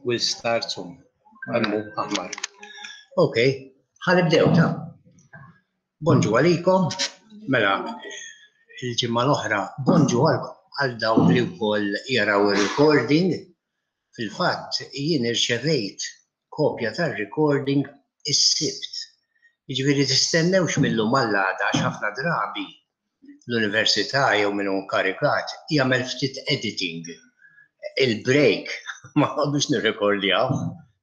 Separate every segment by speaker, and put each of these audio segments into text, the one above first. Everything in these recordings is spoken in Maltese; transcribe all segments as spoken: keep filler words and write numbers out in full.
Speaker 1: We'll start soon. Għalmu aħmar. Ok, ħa nibdew ta. Bonġu għalikom, mela il-ġimgħa l-oħra, bonġu għal dawk li wkoll jaraw il-recording. Fil-fatt, jien irċevejt kopja tar-recording is-Sibt. Jiġifieri tistennewx mil-lum għall-għada, għax ħafna drabi l-università jew min hu inkarigat jagħmel ftit editing. Il-break ma noqogħdux nirrekordjaw.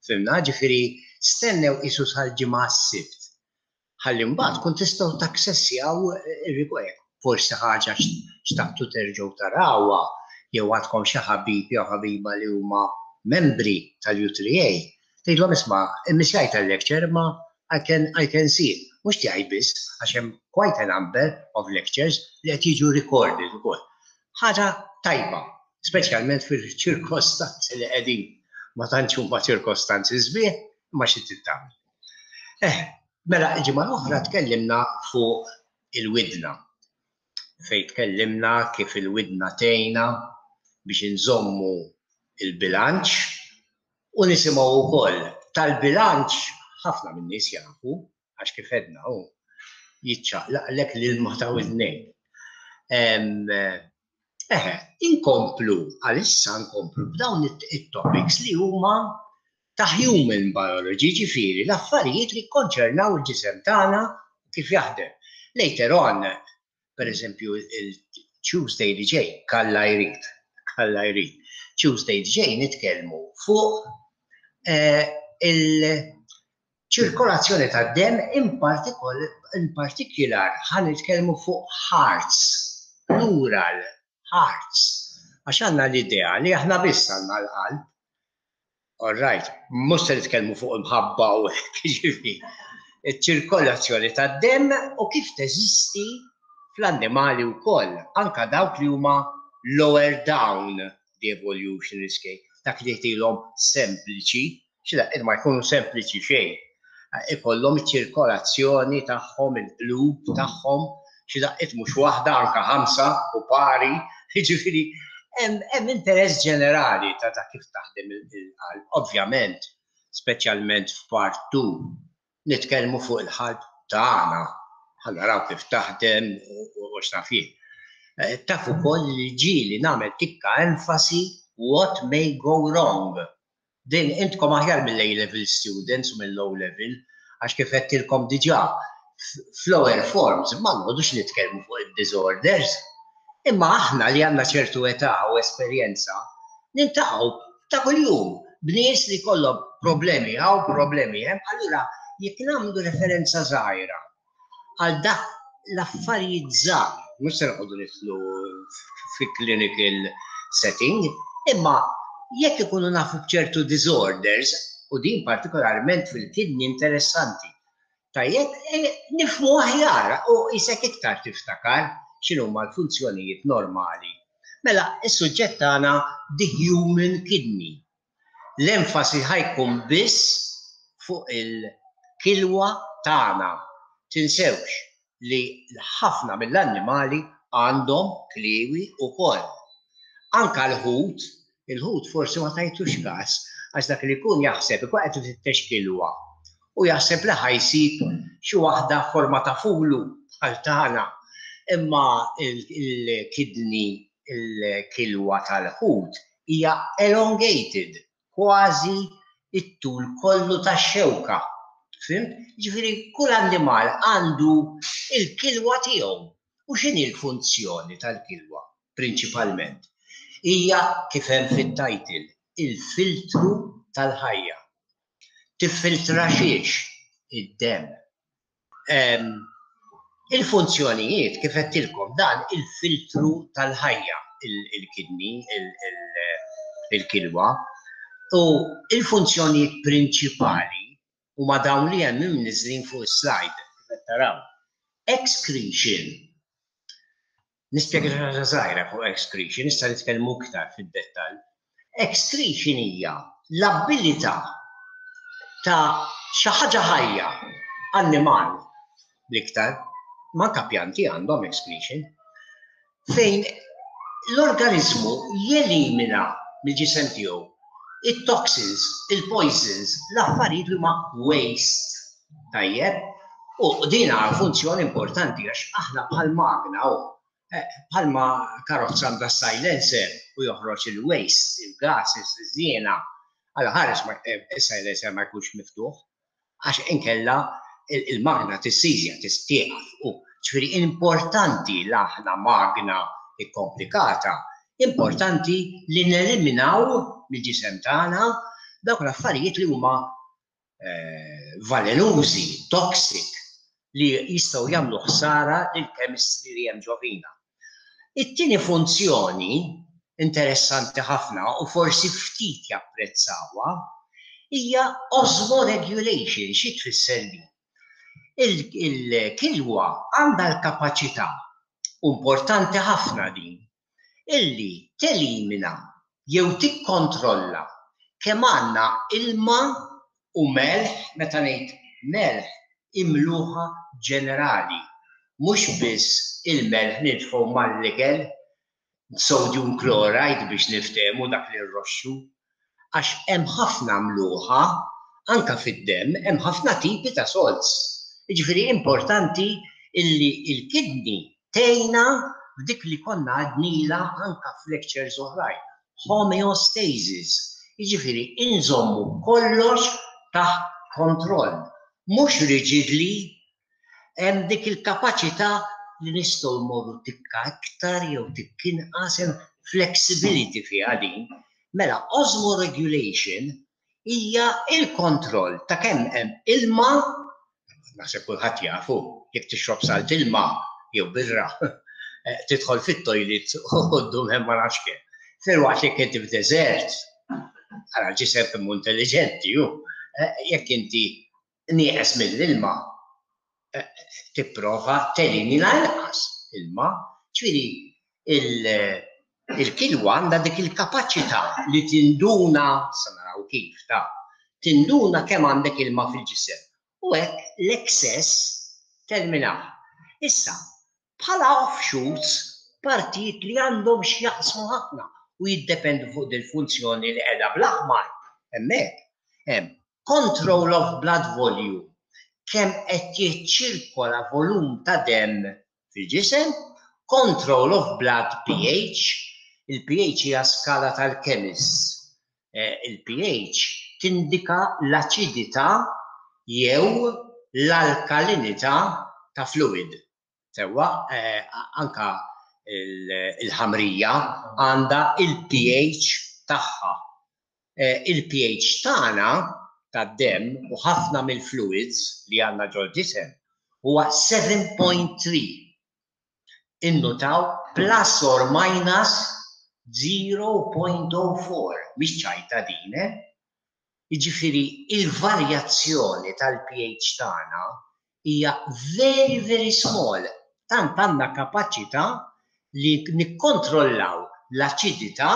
Speaker 1: Fhimna, ġifieri stennew isu sal-Ġimgħa, s-Sibt. Ħalli mbagħad kun tistgħu taksessjaw ir-recording. Forsi ħaġa xtaqtu terġgħu tarawha jew għandkom xi ħabib jew ħabiba li huma membri tal-U three A. Tgħidlhom, "Isma', immissjajt tal-lecture ma I can, I can see it." Mhux tiegħi biss, għax hemm quite a number of lectures li qed jiġu recorded ukoll. Ħaġa tajba, speċjalment fil-ċirkostanzi li qegħdin. Ma tantx huma ċirkostanzi sbieħ, imma xi tagħmel. Eh, mela il-ġimgħa l-oħra tkellimna fuq il-widna. Fejn tkellimna kif il-widna tgħinna biex inżommu il-bilanċ u nisimgħu wkoll. Tal-bilanċ ħafna min-nies jafu, għax kif għedna hu jiċċaqlaqlek l-ilma ta' widnejk. Eħe, inkomplu, għalissa nkomplu b'dawn it-topics li huma ta' human biology, ġifieri l-affarijiet li konċernaw il-ġisem tagħna, kif jaħdem. Later on, per eżempju, il-Tuesday li ġej, Alla jrid, Alla jrid, Tuesday li ġej nitkellmu fuq eh, il-ċirkolazzjoni tad-dem, in partikular ħa nitkellmu fuq hearts, plural, hearts. Għax għandna l-idea li aħna biss għandna l-qalb. All right, mhux se nitkellmu fuq imħabba u ġifieri iċ-ċirkolazzjoni tad-dem u kif teżisti fl-annimali wkoll, anka dawk li huma lower down the evolutionary scale, dak li tilhom sempliċi, xi ma jkunu sempliċi xejn. Ikollhom iċ-ċirkolazzjoni tagħhom, il-qlub tagħhom, xi daqqiet mhux waħda, anka ħamsa u pari, jiġifieri hemm interess ġenerali ta' ta' kif taħdem il-qalb. Ovvjament, speċjalment f'part two, nitkellmu fuq il-qalb tagħna, ħa naraw kif taħdem u x'naf jien. Eh, taf ukoll li ġieli nagħmel tikka enfasi what may go wrong. Din intkom aħjar mill-A level students u mill-O level, għax kif għedtilkom diġà, f'lower forms ma noqogħdux nitkellmu fuq id-disorders. Imma aħna li għandna ċertu età u esperjenza, niltaqgħu ta' kuljum b'nies li kollhom problemi hawn, problemi hemm, allura jekk nagħmlu referenza żgħira għal dak l-affarijiet żgħar, mhux se noqogħdu nidħlu fi clinical setting, imma jekk ikunu nafu b'ċertu disorders, u din partikolarment fil-kidney interessanti, tajjeb, eh, nifhmu aħjar u jisek iktar tiftakar x'inhuma l-funzjonijiet normali. Mela, is-suġġett tagħna, the human kidney. L-enfasi ħa jkun biss fuq il-kilwa tagħna. Tinsewx li ħafna mill-annimali għandhom kliewi ukoll. Anka l-ħut, il-ħut forsi ma tajtux kas, għax dak li jkun jaħseb ikun qed ifittex kilwa u jaħseb li ħa jsib xi waħda forma ta' fulu bħal tagħna. Imma il-kidney, il-kilwa tal-ħut hija elongated, kważi it-tul kollu tax-xewka. Fhimt? Ġifieri kull annimal għandu il-kilwa tiegħu. U x'inhi l-funzjoni tal-kilwa prinċipalment? Hija kif hemm fit-title, il-filtru tal-ħajja. Tiffiltra xiex? Id-dem. Il-funzjonijiet, kif għedtilkom, dan il-filtru tal-ħajja, il-kidney, il-kilwa, u il-funzjonijiet prinċipali huma dawn li hemm imniżlin fuq is-slide, kif qed taraw. Excretion. Nispjega xi ħaġa żgħira fuq excretion, issa nitkellmu iktar fid-dettall. Excretion hija l-abilità ta' xi ħaġa ħajja, annimal l-iktar, manka pjanti għandhom excretion, fejn l-organizmu jelimina mill-ġisem tiegħu It-toxins, il-poisons, l-affarijiet li huma waste. Tajjeb? U din funzjoni importanti għax aħna bħal magna u eh, bħalma karozza għandha silencer u joħroġ il-waste, il-gases, iż-żiena. Għala ħares eh, il-silencer ma jkunx miftuħ, għax inkella il-magna tissizja, tistieqaf. U ġifieri importanti l aħna magna ikkomplikata, importanti li neliminaw mill-ġisem tagħna dawk l-affarijiet li huma eh, velenużi, toxic, li jistgħu jagħmlu ħsara lill-chemistry li hemm ġo fina. It-tieni funzjoni interessanti ħafna u forsi ftit japprezzawha hija osmoregulation. Xi tfisser din? Il-kilwa għandha l-kapaċità, importanti ħafna din, illi telimina jew tikkontrolla kemm għandna ilma u melħ. Meta ngħid melħ, imluħa ġenerali, mhux biss il-melħ nitfgħu mal-ikel, sodium chloride biex niftehmu, dak li rroxxu, għax hemm ħafna mluħa anka fid-demm, hemm ħafna tipi ta' salts. Jiġifieri importanti illi il-kidney tgħinna f'dik li konna għednielha anka f'lectures oħrajn, homeostasis. Jiġifieri inżommu kollox taħt kontroll. Mhux rigidly, hemm dik il-kapaċità li nistgħu mmorru tikka iktar jew tikka inqas, hemm flexibility fiha din. Mela osmoregulation hija il-kontroll ta' kemm hemm ilma. Naħseb kulħadd jafu, jekk tixrob salt ilma jew birra, eh, tidħol fit-toilet u ddum hemm ma nafx kemm. Filwaqt li inti f'deżert, għara ġisem kemm intelligenti ju, eh, jekk inti nieqes mill-ilma, eh, tipprova telimina inqas ilma, ġifieri il-kilwa għandha dik il-kapaċità li tinduna, sa naraw kif ta' tinduna kemm għandek ilma fil-ġisem. U hekk l-excess teliminah. Issa, bħala offshoots, partijiet li għandhom x'jaqsmu ħafna u jiddependu fuq dil-funzjoni li qiegħda bl-aħmar. Hemmhekk hemm control of blood volume, kemm qed jiċċirkola volum ta' demm fil-ġisem, control of blood P H, il-P H hija skala tal-chemists. Eh, Il-P H tindika l-aċidità jew l-alkalinità ta' fluid. Sewwa, eh, anka il-ħamrija għandha il-P H tagħha. Eh, Il-P H tagħna tad-demm u ħafna mill-fluids li għandna ġol-ġisem huwa seba' punt tlieta. Innutaw plus or minus zero punt zero erba', mhix ċajta din, eh? Jiġifieri il-varjazzjoni tal-P H tagħna hija very, very small. Tant għandna kapaċità li nikkontrollaw l-aċidità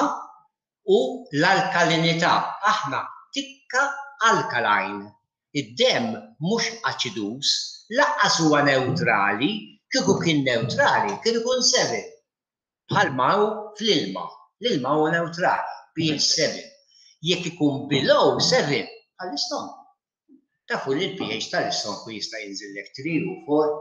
Speaker 1: u l-alkalinità. Aħna tikka alkaline. Id-demm mhux aċiduż, lanqas huwa neutrali, kieku kien neutrali, kien ikun seba'. Bħalma hu fl-ilma. L-ilma huwa neutrali, P H seba'. Jekk ikun below seba', bħall-istonku. Tafu li l-P H tal-istonku jista' jinżillek tlieta u erba',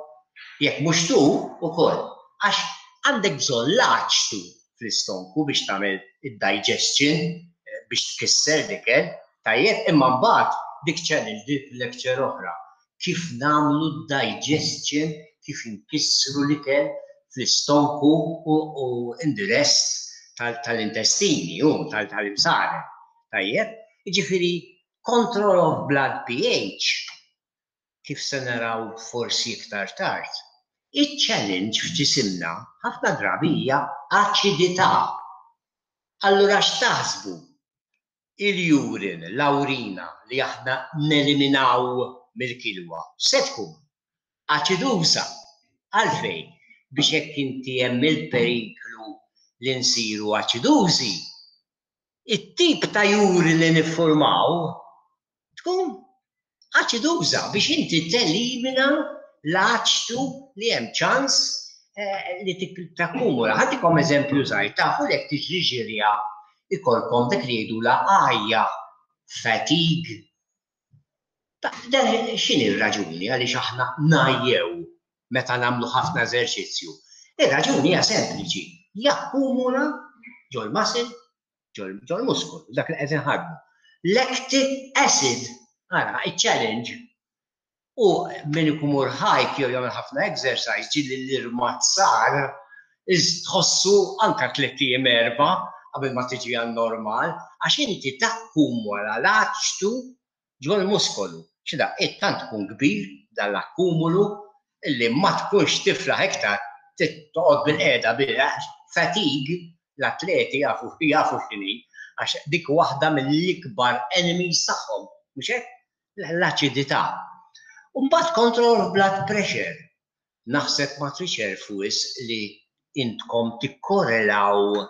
Speaker 1: jekk mhux tu ukoll. Għax għandek bżonn l-aċtu fl-istonku biex tagħmel id-digestion, eh, biex tkisser l-ikel, tajjeb, imma mbagħad dik challenge, dik lecture oħra. Kif nagħmlu digestion, kif inkissru l-ikel fl-istonku u, u in the rest tal-intestini u tal-imsaren. Tajjeb, jiġifieri control of blood P H, kif se naraw forsi iktar tard. Il-challenge f'ġisimna ħafna drabi hija aċidità. Allura x'taħsbu? Il-urine, l-awrina li aħna neliminaw mill-kilwa, se tkun aċiduża. Għalfejn? Biex jekk inti hemm il-periklu li nsiru aċidużi, it-tip ta' urine li niffurmaw tkun aċiduża biex inti telimina l-aċtu li hemm ċans eh, li takkumula. Ħa ntikom eżempju żgħir, tafu li jekk tiġri ġirja Ikollkom dik li jgħidu la għajja, fatigue. X'inhi r-raġuni għaliex aħna ngħajjew meta nagħmlu ħafna eżerċizzju? Ir-raġuni hija sempliċi, jakkumula ġol-muscle, ġol-muskol, dak li qed inħadmu. Lactic acid, ara, il-challenge. U min ikun imur hike jew jagħmel ħafna exercise, ġieli l-irmazzar tħossu anka tliet ijiem, erba' qabel ma tiġi għal normal, għax inti takkumula l-aċtu ġol-muskolu. Xida, tant tkun kbir dal-akkumulu illi ma tkunx tiflaħ iktar, toqgħod bil-qiegħda bil fatigue. L-atleti jafu jafu x'inhi, għax dik waħda mill-ikbar enemies tagħhom, mhux hekk? L-aċidità. Mbagħad control of blood pressure. Naħseb ma tridx wisq li intkom tikkorrelaw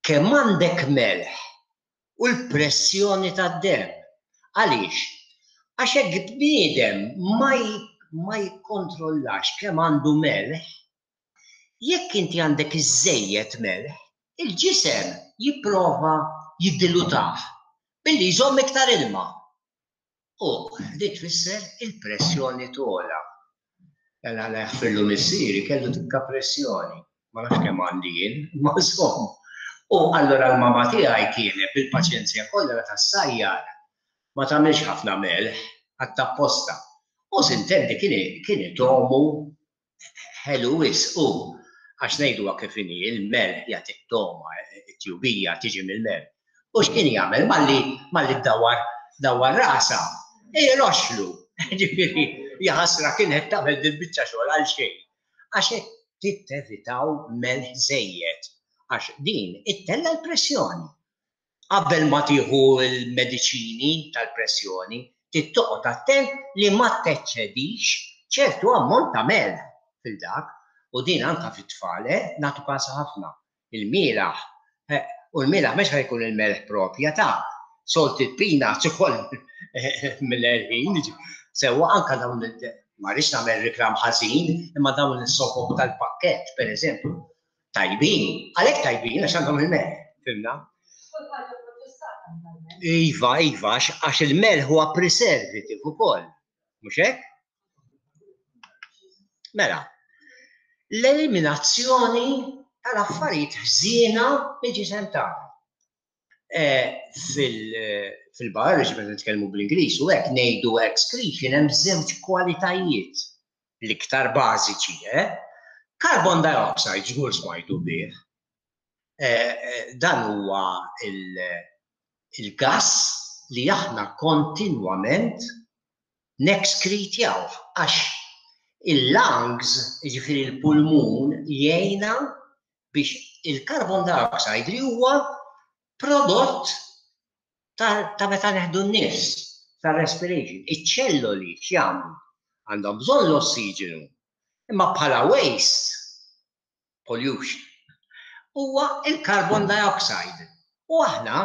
Speaker 1: kemm għandek melħ u l-pressjoni tad-dem. Għaliex? Għax hekk bniedem ma ma jikkontrollax kemm għandu melħ, jekk inti għandek iżejjed melħ, il-ġisem jipprova jiddilutah billi jżomm iktar ilma. U li tfisser il-pressjoni togħla. Alla la jaħfirlu missieri, kellu tikka pressjoni. Ma nafx kemm għandi jien, ma żomm. U allura l-mama tiegħi kienet bil-paċenzja kollha meta ssajjar ma tagħmilx ħafna melħ għat-tapposta. U s'intendi kien itogħmu ħelu wisq u għax ngħidu kif inhi, il-melħ jagħti togħma, it-tjubija tiġi mill-melħ. U x'kien jagħmel malli malli dawar dawar rasa, iroxlu. Ġifieri, jaħasra kienet tagħmel dil-biċċa xogħol għal xejn. Għax hekk tevitaw melħ żejjed, għax din ittella l-pressjoni. Qabel ma tieħu l-mediċini tal-pressjoni, tittoqgħod attent li ma teċċedix ċertu ammont ta' melħ fil-dak, u din anka fit-tfal, eh, nagħtu kasa ħafna. Il-mielaħ, eh, u l-mielaħ mhux ħa jkun il-melħ propja ta' salted peanuts ukoll mill-erħin. Sewwa, anka dawn, ma rridx nagħmel reklam ħażin, imma dawn is-sopop tal-pakkett, pereżempju, tajbin, għalhekk tajbin għax għandhom il-melħ, fhimna? Iva, iva, għax il-melħ huwa preservative ukoll, mhux hekk? Mela, l-eliminazzjoni tal-affarijiet ħżiena mill-ġisem tagħna. Fil-biology, meta nitkellmu bl-Ingliż u hekk ngħidu excretion, hemm żewġ kwalitajiet l-iktar bażiċi, eh? Carbon dioxide żgur smajtu bih. Dan huwa il-gas li aħna kontinwament nexkritjaw għax il-lungs, ġifieri il-pulmun, jgħinna biex il-carbon dioxide li huwa prodott ta' meta neħdu n-nifs, ta' respiration. Iċ-ċelloli x'jagħmlu? Għandhom bżonn l-ossiġenu, imma bħala waste, pollution, huwa il-carbon dioxide. U aħna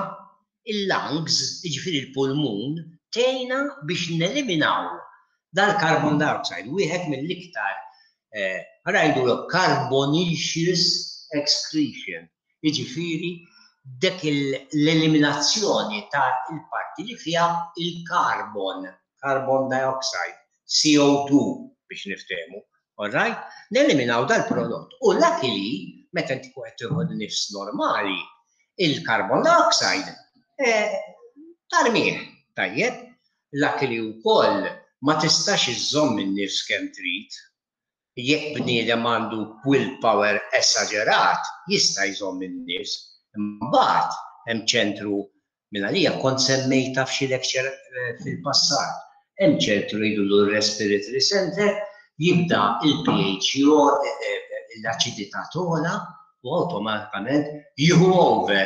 Speaker 1: il-lungs, jiġifieri il-pulmun, tgħinna biex neliminaw dal-carbon dioxide, wieħed mill-iktar, eh, ngħidu carbonaceous excretion, jiġifieri dik l-eliminazzjoni ta' il-parti li fiha il-carbon, carbon dioxide, C O two biex niftehmu, all right? Neliminaw dal-prodott. U luckily, meta inti qed tieħu nifs normali, il-carbon dioxide eh, tarmih, tajjeb, luckily wkoll ma tistax iżżomm in-nifs kemm trid. Jekk bniedem għandu willpower esaġerat, jista' jżomm in-nifs. Imbagħad hemm ċentru minn għalija kont semmejta f'xi lecture eh, fil-passat. Hemm ċentru jgħidu respiratory center, jibda il-P H, eh, eh, l-aċidità togħla u awtomatikament jieħu over.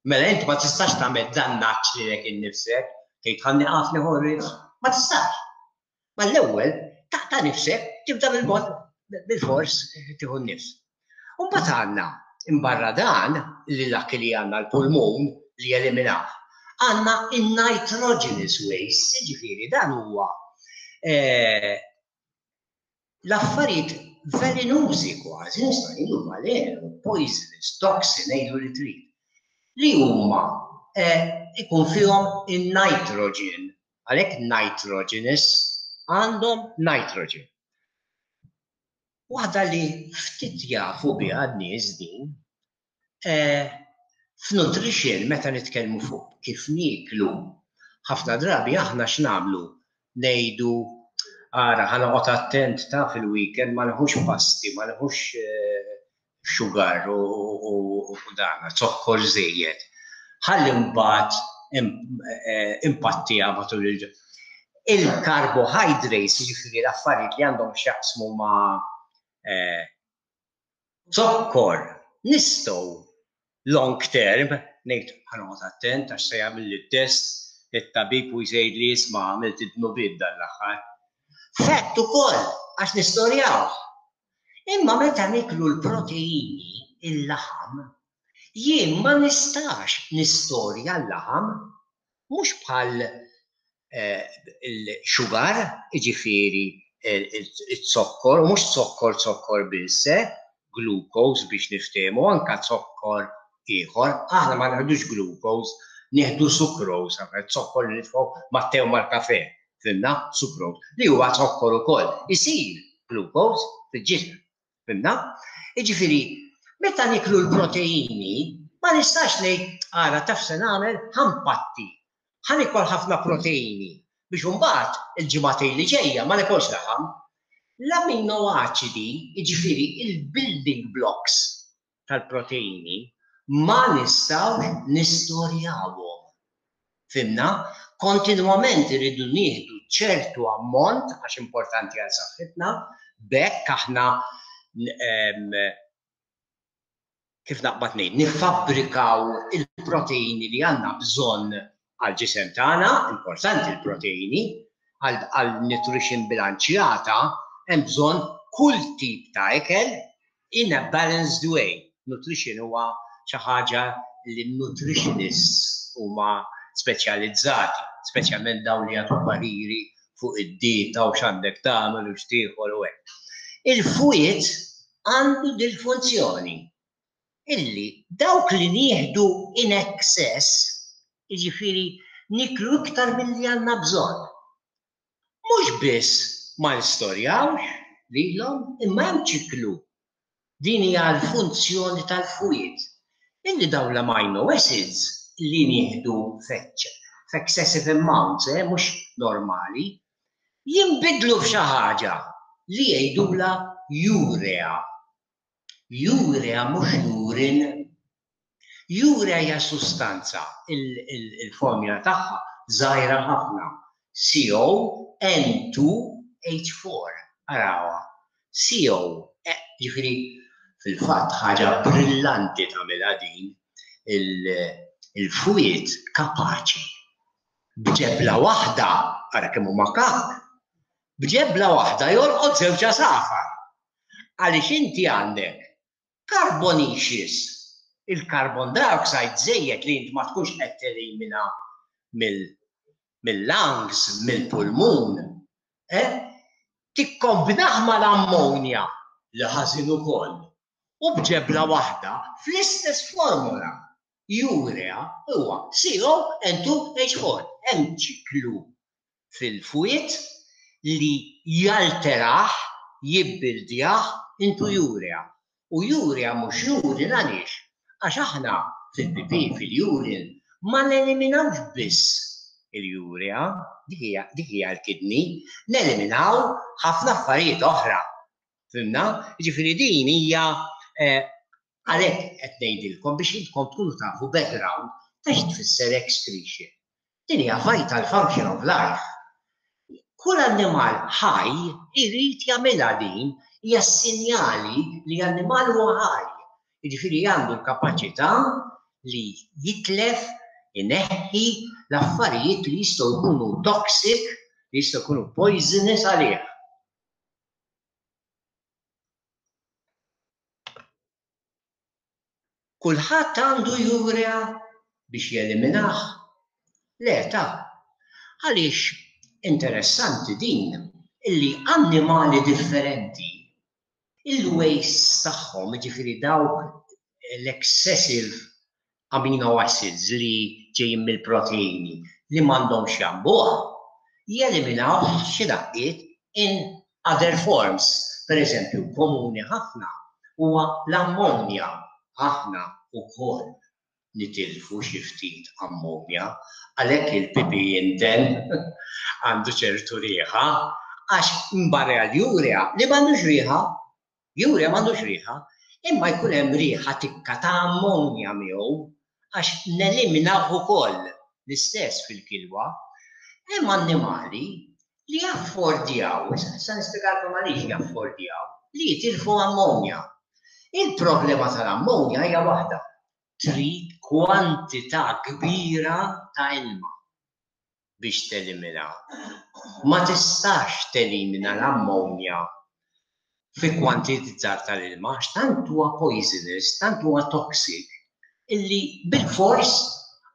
Speaker 1: Mela inti ma tistax tagħmel dannaġġ lilek innifsek, tgħid ħa nieqaf nieħu nifs, ma tistax. Ma l-ewwel taqta' nifsek, tibda bil-mod bil-fors tieħu n-nifs. U mbagħad għandna imbarra dan li dak li għandna l-pulmun li jeliminaw. Għandna il-nitrogenous waste, ġifieri dan huwa eh, l-affarijiet velenużi kważi, nista' ngħidu valenu, poisonous, toxin, ngħidu li trid. Li huma eh, ikun fihom in-nitrogen. Għalhekk nitrogenous, għandhom nitrogen. Waħda li ftit jafu biha n-nies din, eh, f'nutrition, meta nitkellmu fuq kif nieklu, ħafna drabi aħna x'nagħmlu? Ngħidu, ara, ħa noqgħod attent ta' fil-weekend ma neħux pasti, ma neħux eh, sugar u, u, u dan, zokkor żejjed. Ħalli mbagħad eh, impattija matul il Il-carbohydrates, jiġifieri l-affarijiet li għandhom x'jaqsmu ma' eh, zokkor, nistgħu long term ngħid ħa noqgħod attent għax se jagħmel it-test it-tabib u jgħid li, "Isma', għamilt id-dnubiet dan l-aħħar." Fett ukoll għax nistorjaw. Imma meta niklu l-proteini, il-laħam, jien ma nistax nistorja l-laħam, mhux bħal eh, il-sugar, jiġifieri il-zokkor, u mhux zokkor zokkor biss, eh, glucose biex niftehmu, anka zokkor ieħor, aħna ma neħdux glucose, nieħdu sucrose, zokkor li nitfgħu mat-te u mal-kafe, fhimna, sucrose, li huwa zokkor ukoll, isir glucose fil-ġisem, fhimna? Jiġifieri, meta niklu l-proteini, ma nistax ngħid, "Ara, taf se nagħmel, ħa npatti, ħa nikol ħafna proteini biex imbagħad il-ġimagħtejn li ġejja ma nikolx laħam." L-amino aċidi, jiġifieri il-building blocks tal-proteini, ma nistgħux nistorjawhom. Fhimna? Kontinwament irridu nieħdu ċertu ammont għax importanti għal saħħitna, b'hekk aħna, kif naqbad ngħid, nifabbrikaw il-proteini li għandna bżonn għal ġisem tagħna, importanti l-proteini, għal nutrition bilanċjata hemm bżonn kull tip ta' ikel in a balanced way. Nutrition huwa xi ħaġa li nutritionists huma speċjalizzati, speċjalment dawn li jagħtu pariri fuq id-dieta u x'għandek tagħmel u x'tiekol u hekk. Il-fwied għandu dil-funzjoni illi dawk li nieħdu in excess, jiġifieri niklu iktar milli għandna bżonn, mhux biss ma nistorjawx lilhom, imma hemm ċiklu. Din hija l-funzjoni tal-fwied. Illi dawn l-amino acids li nieħdu f'excessive amounts, eh, mhux normali, jinbidlu f'xi ħaġa li jgħidula urea. Urea mhux urine. Urea hija sustanza, il-formula tagħha żgħira ħafna. C O N two H four. Arawha. C O, eh, jiġifieri fil-fatt ħaġa brillanti tagħmilha din il-fwied, kapaċi b'ġebla waħda, ara kemm huma kak, b'ġebla waħda jolqot żewġ għasafar. Għaliex inti għandek carbonaceous, il-carbon dioxide żejjed li inti ma tkunx qed telimina mill-lungs, mill-pulmun, eh? Tikkombinah mal-ammonja li ħażin ukoll. U b'ġebla waħda fl-istess formula urea huwa C O N two H four. Hemm ċiklu fil-fwied li jalterah, jibbildjah into urea. U urea mhux urine għaliex? Għax aħna fil-pipi, fil-urine, ma neliminawx biss il-urea, dik hija l-kidney, neliminaw ħafna affarijiet oħra. Fhimna? Jiġifieri din hija eh, għalhekk qed ngħidilkom biex intkom tkunu tafu background ta' tfisser excretion. Din hija vital function of life. Kull annimal ħaj irid jagħmilha din, hija sinjali li annimal huwa ħaj. Jiġifieri għandu l-kapaċità li jitlef, ineħħi l-affarijiet li jistgħu jkunu toxic, li jistgħu jkunu poisonous għalih. Kulħadd għandu urea biex jeliminah? Le ta'. Għaliex interessanti din illi annimali differenti il-waste tagħhom, jiġifieri dawk l-excessive amino acids li ġejjin mill-proteini li m'għandhomx jambuha, jeliminaw xi daqqiet in other forms. Per eżempju, komuni ħafna huwa l-ammonja. Aħna wkoll nitilfu xi ftit ammonja, għalhekk il-pipi jinten, għandu ċertu riħa, għax mbarra l-urea li m'għandux riħa, urea m'għandux riħa, imma jkun hemm riħa tikka ta' ammonja miegħu għax neliminaw ukoll, l-istess fil-kilwa. Hemm annimali li jaffordjaw, issa nispjegalkom għaliex jaffordjaw, li jitilfu ammonja. Il-problema tal-ammonja hija waħda: trid kwantità kbira ta' ilma biex telimina. Ma tistax telimina l-ammonja fi kwantità żgħar tal-ilma, għax tant huwa poisonous, tant huwa toxic, illi bil-fors,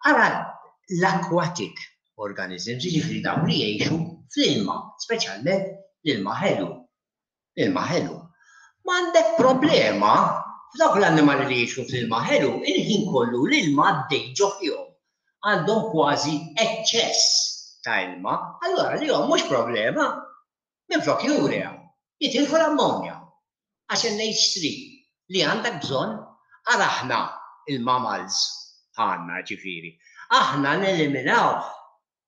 Speaker 1: ara l-aquatic organisms, jiġifieri dawn li jgħixu fl-ilma, speċjalment l-ilma ħelu. L-ilma ħelu. Ma għandek problema f'dawk l-annimali li jgħixu fl-ilma ħelu, il-ħin kollu l-ilma għaddej ġo fihom. Għandhom kważi eċċess ta' ilma, allora li mhux problema, minflok urea, jitilfu l-ammonja. Għax N H three li għandek bżonn, ara aħna il-mammals għandna ġifieri. Aħna neliminaw,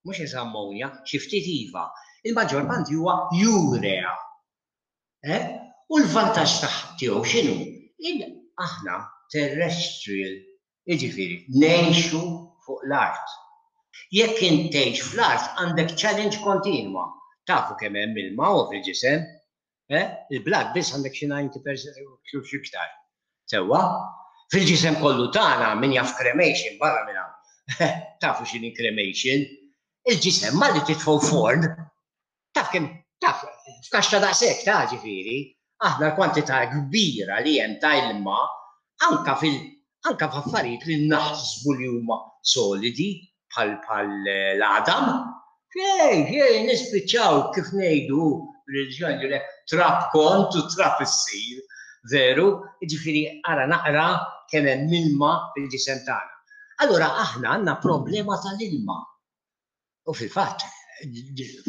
Speaker 1: mhux ammonja, xi ftit iva. Il-maġġor parti huwa urea. Eh? U l-vantaġġ tiegħu x'inhu? Aħna terrestrial, jiġifieri ngħixu fuq l-art. Jekk int tgħix fl-art, għandek challenge kontinwa. Tafu kemm hemm ilma u fil-ġisem? Eh? Il-blood biss għandek xi disgħin fil-mija xi iktar. Sewwa? Fil-ġisem kollu tagħna, min jaf cremation barra minn hawn. Tafu x'inhi cremation? Il-ġisem malli titfgħu forn, taf kemm taf f'kaxxa daqshekk ta' ġifieri, aħna l-kwantità kbira li hemm ta' ilma anka fil anka f'affarijiet li naħsbu li huma solidi bħal bħal l-għadam. Xej, xej, nispiċċaw, kif ngħidu reliġjon, trab kont u trab issir, veru, ġifieri ara naqra kemm hemm ilma fil-ġisem tagħna. Allura aħna għandna problema tal-ilma. U fil-fatt,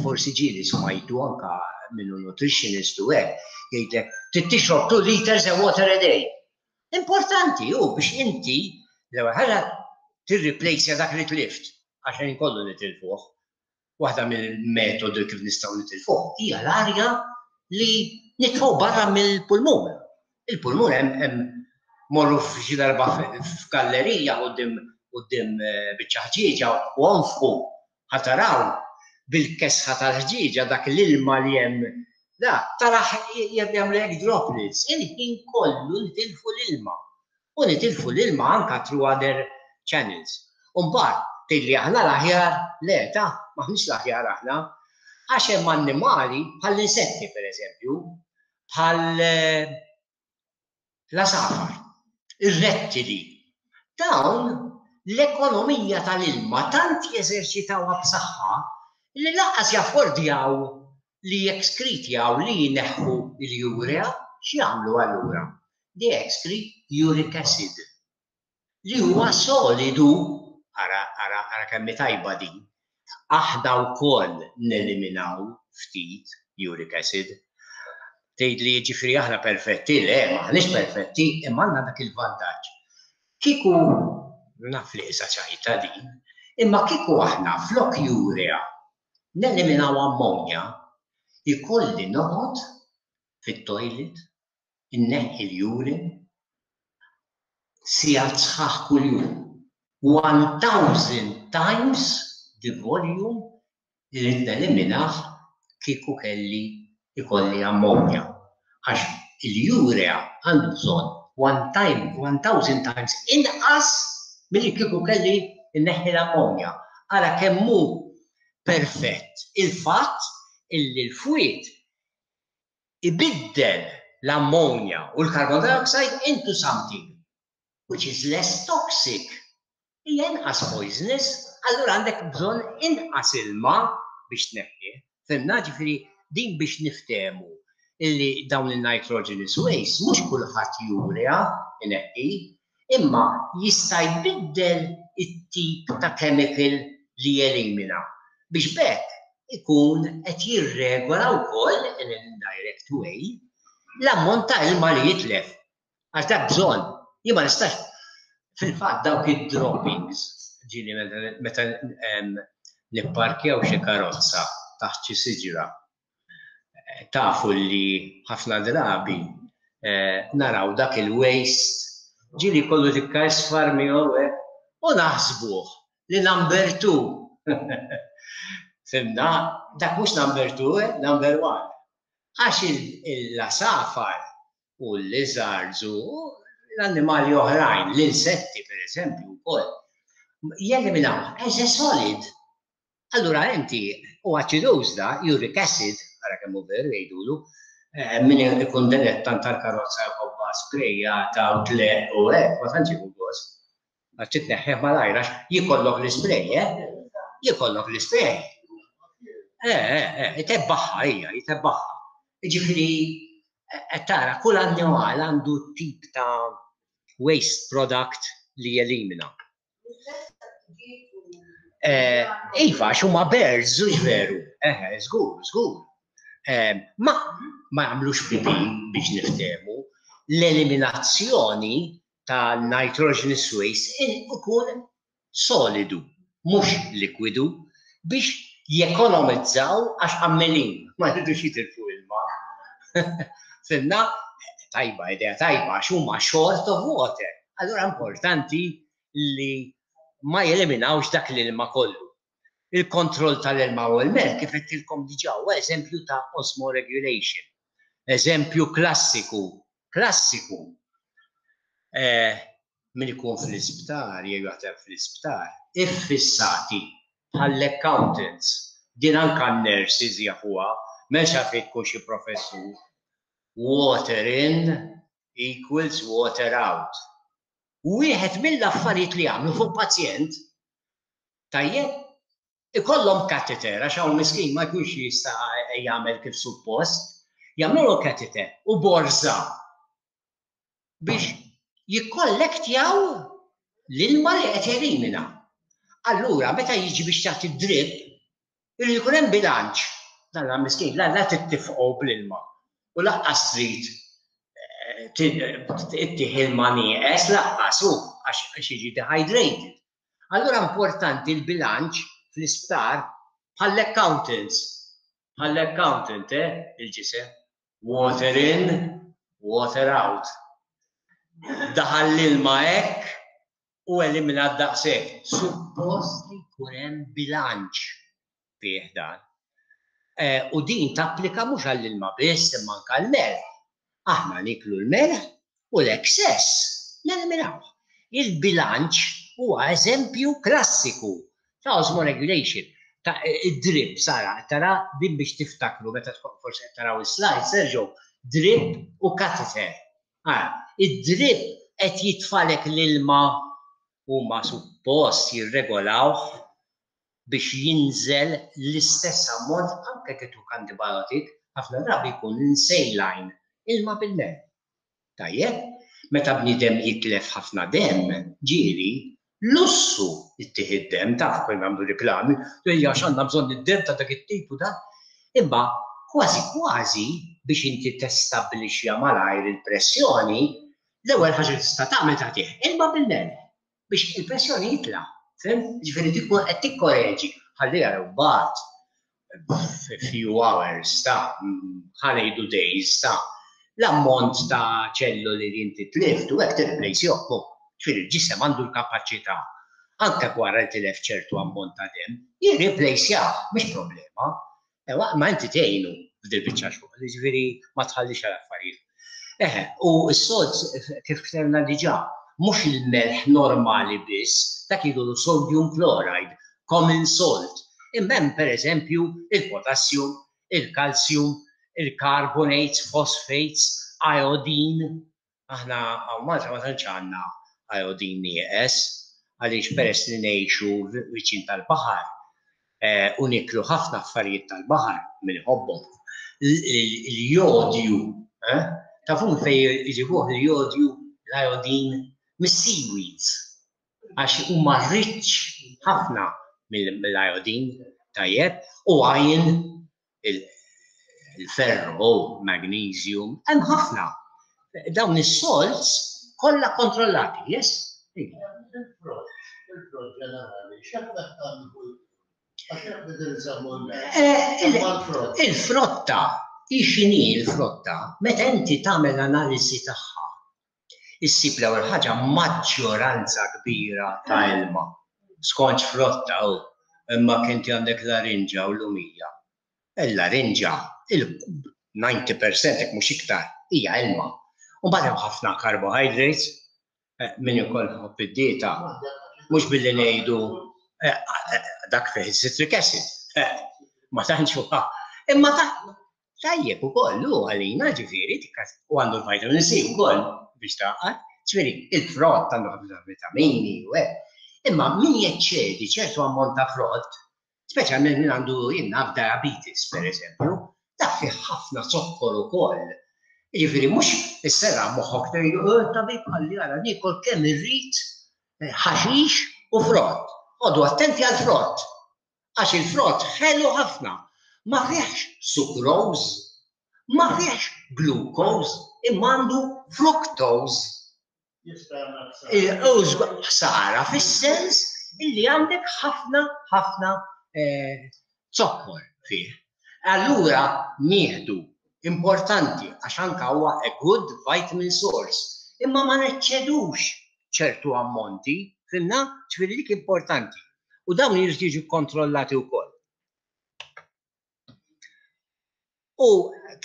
Speaker 1: forsi ġieli smajtu anka minnu nutritionist u hekk, jgħidlek trid tixrob two liters of water a day. Importanti hu biex inti l-ewwel ħaġa tirreplace dak li tlift, għax kollu nitilfuh. Waħda mill-metodi kif nistgħu nitilfuh hija l-arja li nitfgħu barra mill-pulmun. Il-pulmun hemm, morru f'xi darba f'gallerija quddiem quddiem eh, biċċa ħġieġa u onfħu, ħa taraw bil-kesħa tal-ħġieġa dak l-ilma li hemm da taraħ jagħmel droplets. Il-ħin kollu nitilfu l-ilma. U nitilfu l-ilma anka through other channels. Umbagħad tgħidli aħna l-aħjar, le ta', m'aħniex l-aħjar aħna, għax hemm annimali bħall-insetti, per eżempju, bħal eh, l-għasafar, ir-rettili. Dawn l-ekonomija tal-ilma tant jeżerċitawha b'saħħa li lanqas jaffordjaw li jekskritjaw, li jneħħu l-urea. X'jagħmlu allura? They excrete uric acid li huwa solidu. Ara, ara, ara kemm tajba din. Aħna wkoll neliminaw ftit uric acid. Tgħid li ġifieri aħna perfetti, le, m'aħniex perfetti, imma għandna dak il-vantaġġ. Kieku, naf li issa ċajta din, imma kieku aħna flok urea neliminaw ammonja, ikolli noqgħod fit-toilet, inneħħi l-urine, sigħat sħaħ kuljum. one thousand times the volume li rrid neliminah kieku kelli ikolli ammonja. Għax il-urea għandu bżonn one time, one thousand times inqas milli kieku kelli nneħħi l-ammonja. Ara kemm hu perfett il-fatt illi l-fwied ibiddel l-ammonja u l-carbon dioxide into something which is less toxic. Hija inqas poisonous, allura għandek bżonn inqas ilma biex tneħħi. Fhimna? Ġifieri din biex niftehmu illi dawn il-nitrogenous waste mhux kulħadd urea ineħħi, Imma jista' jbiddel it-tip ta' chemical li jelimina biex b'hekk ikun qed jirregola wkoll in an indirect way l-ammont ta' ilma li jitlef. Għax dak bżonn, jien ma nistax. Fil-fatt dawk id-droppings, ġieli meta nipparkjaw xi karozza taħt xi siġra, tafu li ħafna drabi naraw dak il-waste, ġieli kollu tikka isfar miegħu u naħsbuh li number two. Fhimna, dak mhux number two, number one. Għax l-għasafar u l-lizards u l-annimali oħrajn, l-insetti per eżempju wkoll, jeliminaw as a solid. Allura inti u aċiduż da, uric acid, ara kemm hu veru jgħidulu, min ikun dilettant tal-karozza jħobba sprejjata u tleq u hekk, ma tantx jieħu gost. Għax titneħħih malajr għax jikollok l-ispray, eh? Jikollok l-ispray. Eh, eh, eh, jtebbaħħa hija, jtebbaħħa. Jiġifieri qed tara kull annimal għandu tip ta' waste product li jelimina. Iva, għax huma birds, hux veru. Eħe, żgur, żgur. Ma ma jagħmlux pipi biex niftehmu. L-eliminazzjoni ta' nitrogenous waste ikun solidu, mhux likwidu, biex jekonomizzaw għax għammelin, ma jridux jitilfu ilma. Fhimna, tajba, idea tajba, għax huma short of water. Allura importanti li ma jeliminawx dak l-ilma kollu. Il-kontroll tal-ilma u l-melħ kif għedtilkom diġà huwa eżempju ta' osmoregulation. Eżempju klassiku, klassiku. Eh, min ikun fl-isptar, jew jaħdem fl-isptar, iffissati bħall-accountants. Din anka n-nurses jafuha, m'hemmx għalfejn tkun xi professur. Water in equals water out. Wieħed mill-affarijiet li jagħmlu fuq pazjent, tajjeb, ikollhom catheter, għax hawn miskin ma jkunx jista' jagħmel kif suppost, jagħmlu catheter u borża biex jikkollektjaw l-ilma li qed jelimina. Allura, meta jiġi biex tagħti drip, irid ikun hemm bilanċ. Dan la miskin, la la tittifqgħu bl-ilma. U lanqas trid ittih ilma nieqes lanqas hu għax jiġi dehydrated. Allura importanti l-bilanċ fl-isptar bħall-accountants. Bħall-accountant, eh, il-ġisem. Water in, water out. Daħal l-ilma hekk u elimina daqshekk. Suppost li jkun hemm bilanċ fih dan. U din tapplika mhux għall-ilma biss imma anke għall-melħ. Aħna niklu l-melħ u l-excess neliminawh. Il-bilanċ huwa eżempju klassiku ta' osmoregulation. Ta' id-drip, Sara, tara din biex tiftakru meta tkun forsi qed taraw is-slide, Sergio, drip u catheter. Ara, id-drip qed jitfalek l-ilma huma suppost jirregolawh biex jinżel l-istess ammont anke kituk antibiotic, ħafna drabi jkun saline, ilma bil-melħ. Tajjeb, meta bniedem jitlef ħafna demm, ġieli, lussu ittih id-demm, taf kif nagħmlu riklami, ejja għax għandna bżonn id-demm ta' dak it-tip u da. Imma kważi kważi biex inti testabbilixxi malajr il-pressjoni, l-ewwel ħaġa li tista' tagħmel tagħtih ilma bil-melħ biex il-pressjoni jitla'. Fhimt? Ġifieri tkun qed tikkoreġi ħalli jaraw mbagħad few hours ta' ħa ngħidu days ta' l-ammont ta' ċelluli li inti tlift u hekk tirreplace jokku. Ġifieri il-ġisem għandu l-kapaċità anke wara li tilef ċertu ammont ta' demm, jirreplace mhix problema. Ewa, ma inti tgħinu f'dil biċċa xogħol, ġifieri ma tħallix għal affarijiet. Eħe, u s-sod kif ktebna diġà, mhux il-melħ normali biss, dak jgħidu sodium chloride, common salt. Imma hemm pereżempju il-potassium, il-calcium, il-carbonates, phosphates, iodine. Aħna hawn Malta ma tantx għandna iodine nieqes, għaliex peress li ngħixu viċin tal-baħar u niklu ħafna affarijiet tal-baħar min iħobbhom. Il-jodju, tafu fejn jġibuh il-jodju, l-iodine Mis-seaweeds, għax huma rich ħafna mill-iodine, tajjeb, u iron, il-ferro, magnesium, hemm ħafna. Dawn is-salts kollha kontrollati, yes?
Speaker 2: Il-frott, il-frott ġenerali, x'effett għandu?
Speaker 1: Eh, il-frotta, x'inhi l-frotta, meta inti tagħmel analiżi tagħha, issib l-ewwel ħaġa maġġoranza kbira ta' ilma. Skont frotta u imma kinti għandek larinġa u lumija. Il-larinġa, il-disgħin fil-mija jekk mhux iktar, hija ilma. U mbagħad hemm ħafna carbohydrates, eh, min ukoll iħobb id-dieta, mhux billi ngħidu eh, eh, dak fih citric acid. Ma tantx huwa. Imma ta' tajjeb ukoll hu għalina, ġifieri, u għandu l-vitamin C ukoll biex taqgħad. Ġifieri, il-frott għandu ħafna vitamini u hekk. Imma min jeċċedi ċertu ammont ta' frott, speċjalment min għandu, jien naf, diabetes per eżempju, dak fih ħafna zokkor ukoll. Ġifieri mhux isserraħ moħħok tgħidu, "Oh, tabib qalli ara niekol kemm irrid eh, ħaxix u frott." Oqogħdu attenti għal frott. Għax il-frott ħelu ħafna. Ma fihx sucrose, ma fihx glucose, imma għandu fructose. Ħsara fis-sens illi għandek ħafna ħafna eh, zokkor fih. Allura nieħdu, importanti għax anka huwa a good vitamin source, imma ma neċċedux ċertu ammonti, fhimna? Ġifieri dik importanti. U dawn jridu jiġu kontrollati wkoll. U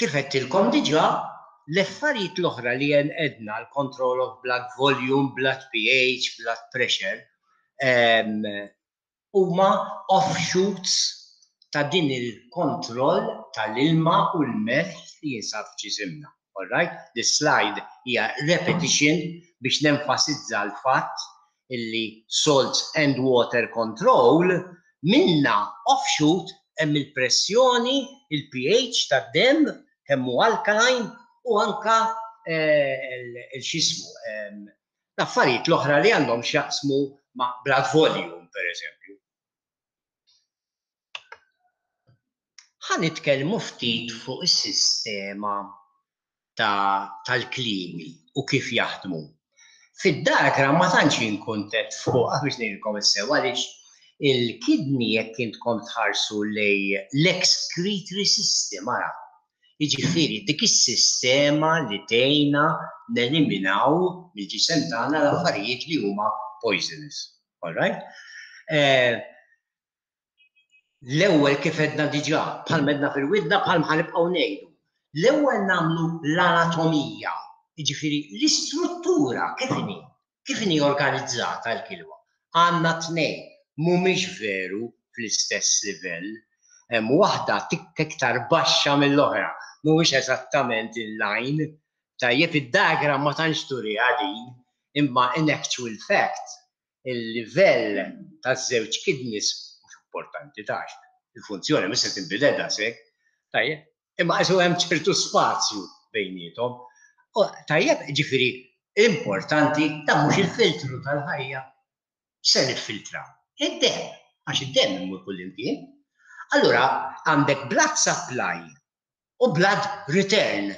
Speaker 1: kif għedtilkom diġà, l-affarijiet l-oħra li għedna, l-control of blood volume, blood P H, blood pressure, huma offshoots ta' din il-kontroll tal-ilma u l-melħ li jinsab f'ġisimna. All right? This slide hija repetition biex nenfasizza l-fatt illi salts and water control, minna offshoot hemm il-pressjoni, il-P H tad-dem, kemm hu alkaline, u anka eh, il-xismu l-affarijiet l-oħra li għandhom x'jaqsmu ma' blood volume, per eżempju. Ħa nitkellmu ftit fuq is-sistema tal-kliewi u kif jaħdmu. Fid-diagram ma tantx jien kuntent fuq, biex ngħidilkom is-sew, għaliex il-kidney, jekk intkom tħarsu lejn l-excretory system, ara. Jiġifieri dik is-sistema li tgħinna neliminaw mill-ġisem tagħna l-affarijiet li huma poisonous. All right? Eh, l-ewwel, kif għedna diġà, bħal m'għedna fil-widna, bħal ma nibqgħu ngħidu. L-ewwel nagħmlu l-anatomija, jiġifieri l-istruttura kif inhi, kif inhi organizzata l-kilwa. Għandna tnejn, mhumiex veru fl-istess livell. Hemm waħda tikka iktar baxxa mill-oħra, mhuwiex eżattament in line. Tajjeb, id-diagram ma tantx turiha din, imma in actual fact il-livell taż-żewġ kidneys mhux importanti tax. Il-funzjoni mhux se tinbidel daqshekk. Tajjeb, imma qisu hemm ċertu spazju bejniethom. Tajjeb, ġifieri importanti ta' mhux il-filtru tal-ħajja. Se niffiltra? Id-dem, għax id-dem imur kullimkien. Allura għandek blood supply u blood return.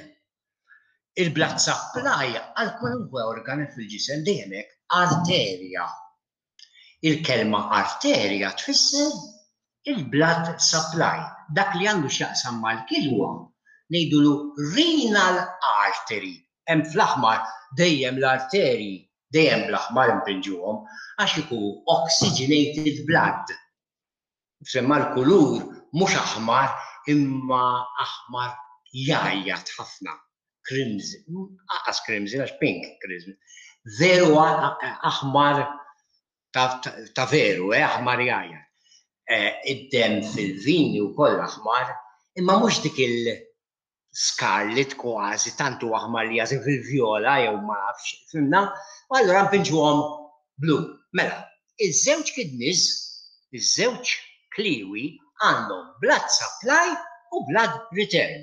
Speaker 1: Il-blood supply għal kwalunkwe organ fil-ġisem dejjem hekk, arterja. Il-kelma arterja tfisser il-blood supply. Dak li għandu x'jaqsam mal-kilwa ngħidulu renal artery. Hemm fl-aħmar dejjem l-arterji, dejjem bl-aħmar impinġuhom għax ikun oxygenated blood. Semma l-kulur mhux aħmar imma aħmar jgħajjat ħafna. Crimson, aqas crimson għax pink crimson. Veru aħmar ta' veru, eh, aħmar jgħajjat. Eh, id-dem fil-vini u koll aħmar, imma mhux dik il-scarlet kważi, tantu aħmar li jażin fil-vjola jew ma nafx, fhimna? U allura npinġuhom blu. Mela, iż-żewġ kidneys, iż-żewġ kliwi għandhom blood supply u blood return.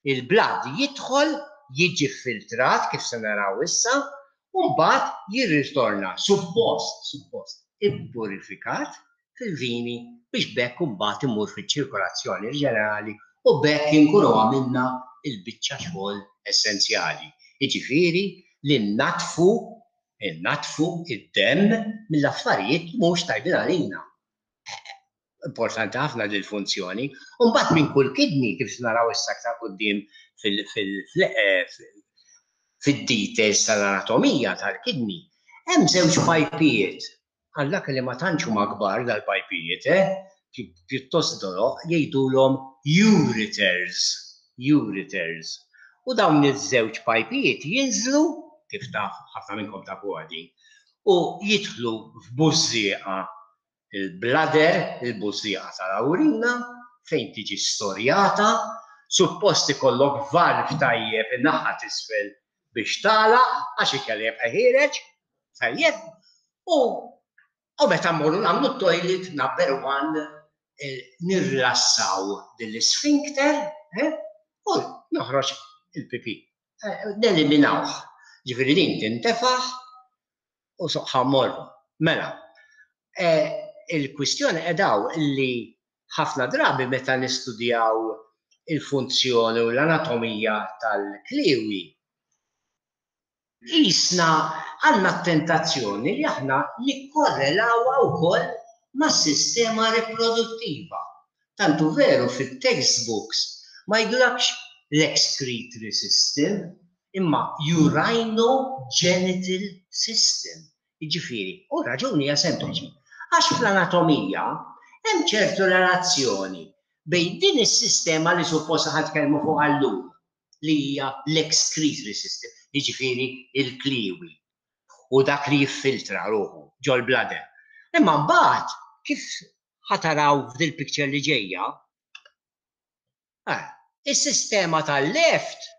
Speaker 1: Il-blood jidħol, jiġi filtrat kif se naraw issa, U mbagħad jirritorna suppost, suppost, ippurifikat fil-vini biex b'hekk imbagħad imur fiċ-ċirkolazzjoni ġenerali u b'hekk inkunu għamilna il-biċċa xogħol essenzjali. Jiġifieri li natfu natfu id-demm mill-affarijiet li mhux tajbin għalina. Importanti ħafna li l-funzjoni. U mbagħad minn kull kidney, kif naraw issa aktar quddiem fil-details tal-anatomija tal-kidney, hemm żewġ pajpijiet. Għallak li ma tantx huma kbar dal-pajpijiet, eh? Pjuttost doloq, jgħidulhom ureters. Ureters. U dawn iż-żewġ pajpijiet jinżlu, kif taf, ħafna minnkom tafu għadi, u jidħlu f'bużżieqa il-bladder, il-bużżieqa tal-awrina, fejn tiġi storjata, suppost ikollok valve tajjeb in-naħa t'isfel biex tagħlaq għax ikelli jibqa' ħiereġ, tajjeb, u u meta mmorru nagħmlu t-toilet number one eh, nirrilassaw din l-sphincter eh, u noħroġ il-pipi. Eh, neliminawh. Ġifieri din tintefaħ u soqħa morru. Mela, il-kwistjoni edaw li ħafna drabi meta nistudjaw il-funzjoni u l-anatomija tal-kliwi, jisna għandna tentazzjoni li aħna nikkorrelawha wkoll mas-sistema riproduttiva. Tantu veru fit-textbooks ma jgħidulakx l-excretory system, imma urinogenital system. Jiġifieri, u raġuni hija sempliċi. Għax fl-anatomija hemm ċertu relazzjoni bejn din is-sistema li suppost ħa nitkellmu fuq għallum, li hija l-excretory system, jiġifieri il-kliwi, u dak li jiffiltra ruħu ġol-bladder. Imma mbagħad kif ħa taraw f'dil picture li ġejja, eh, is-sistema tal-left,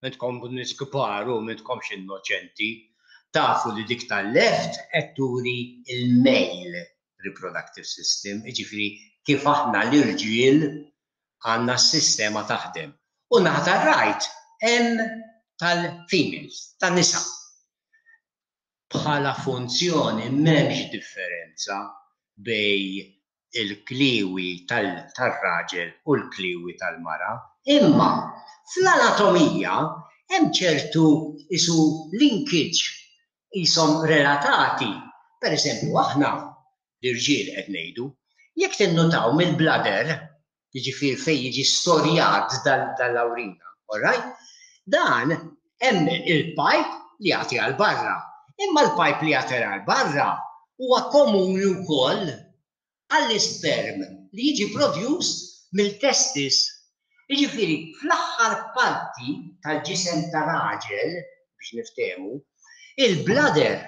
Speaker 1: intkom nies kbar u m'intkomx innoċenti, tafu li dik tal-left qed turi il-male reproductive system, jiġifieri kif aħna l-irġiel għandna s-sistema taħdem. U naħa tar-right hemm tal-females, tan-nisa. Bħala funzjoni m'hemmx differenza bejn il-kliwi tal-raġel u l-kliwi tal-mara, imma fl-anatomija hemm ċertu isu linkage jisom relatati. Per eżempju, aħna l-irġiel qed ngħidu, jekk tinnotaw mill-bladder, jiġifieri fejn jiġi storjat dal-awrina, all right? Dan hemm il-pipe li jagħti għal barra. Imma l-pipe li jagħti għal barra huwa komuni wkoll għall-isperm li jiġi produced mill-testis. Jiġifieri fl-aħħar parti tal-ġisem ta' raġel, biex niftehmu, il-bladder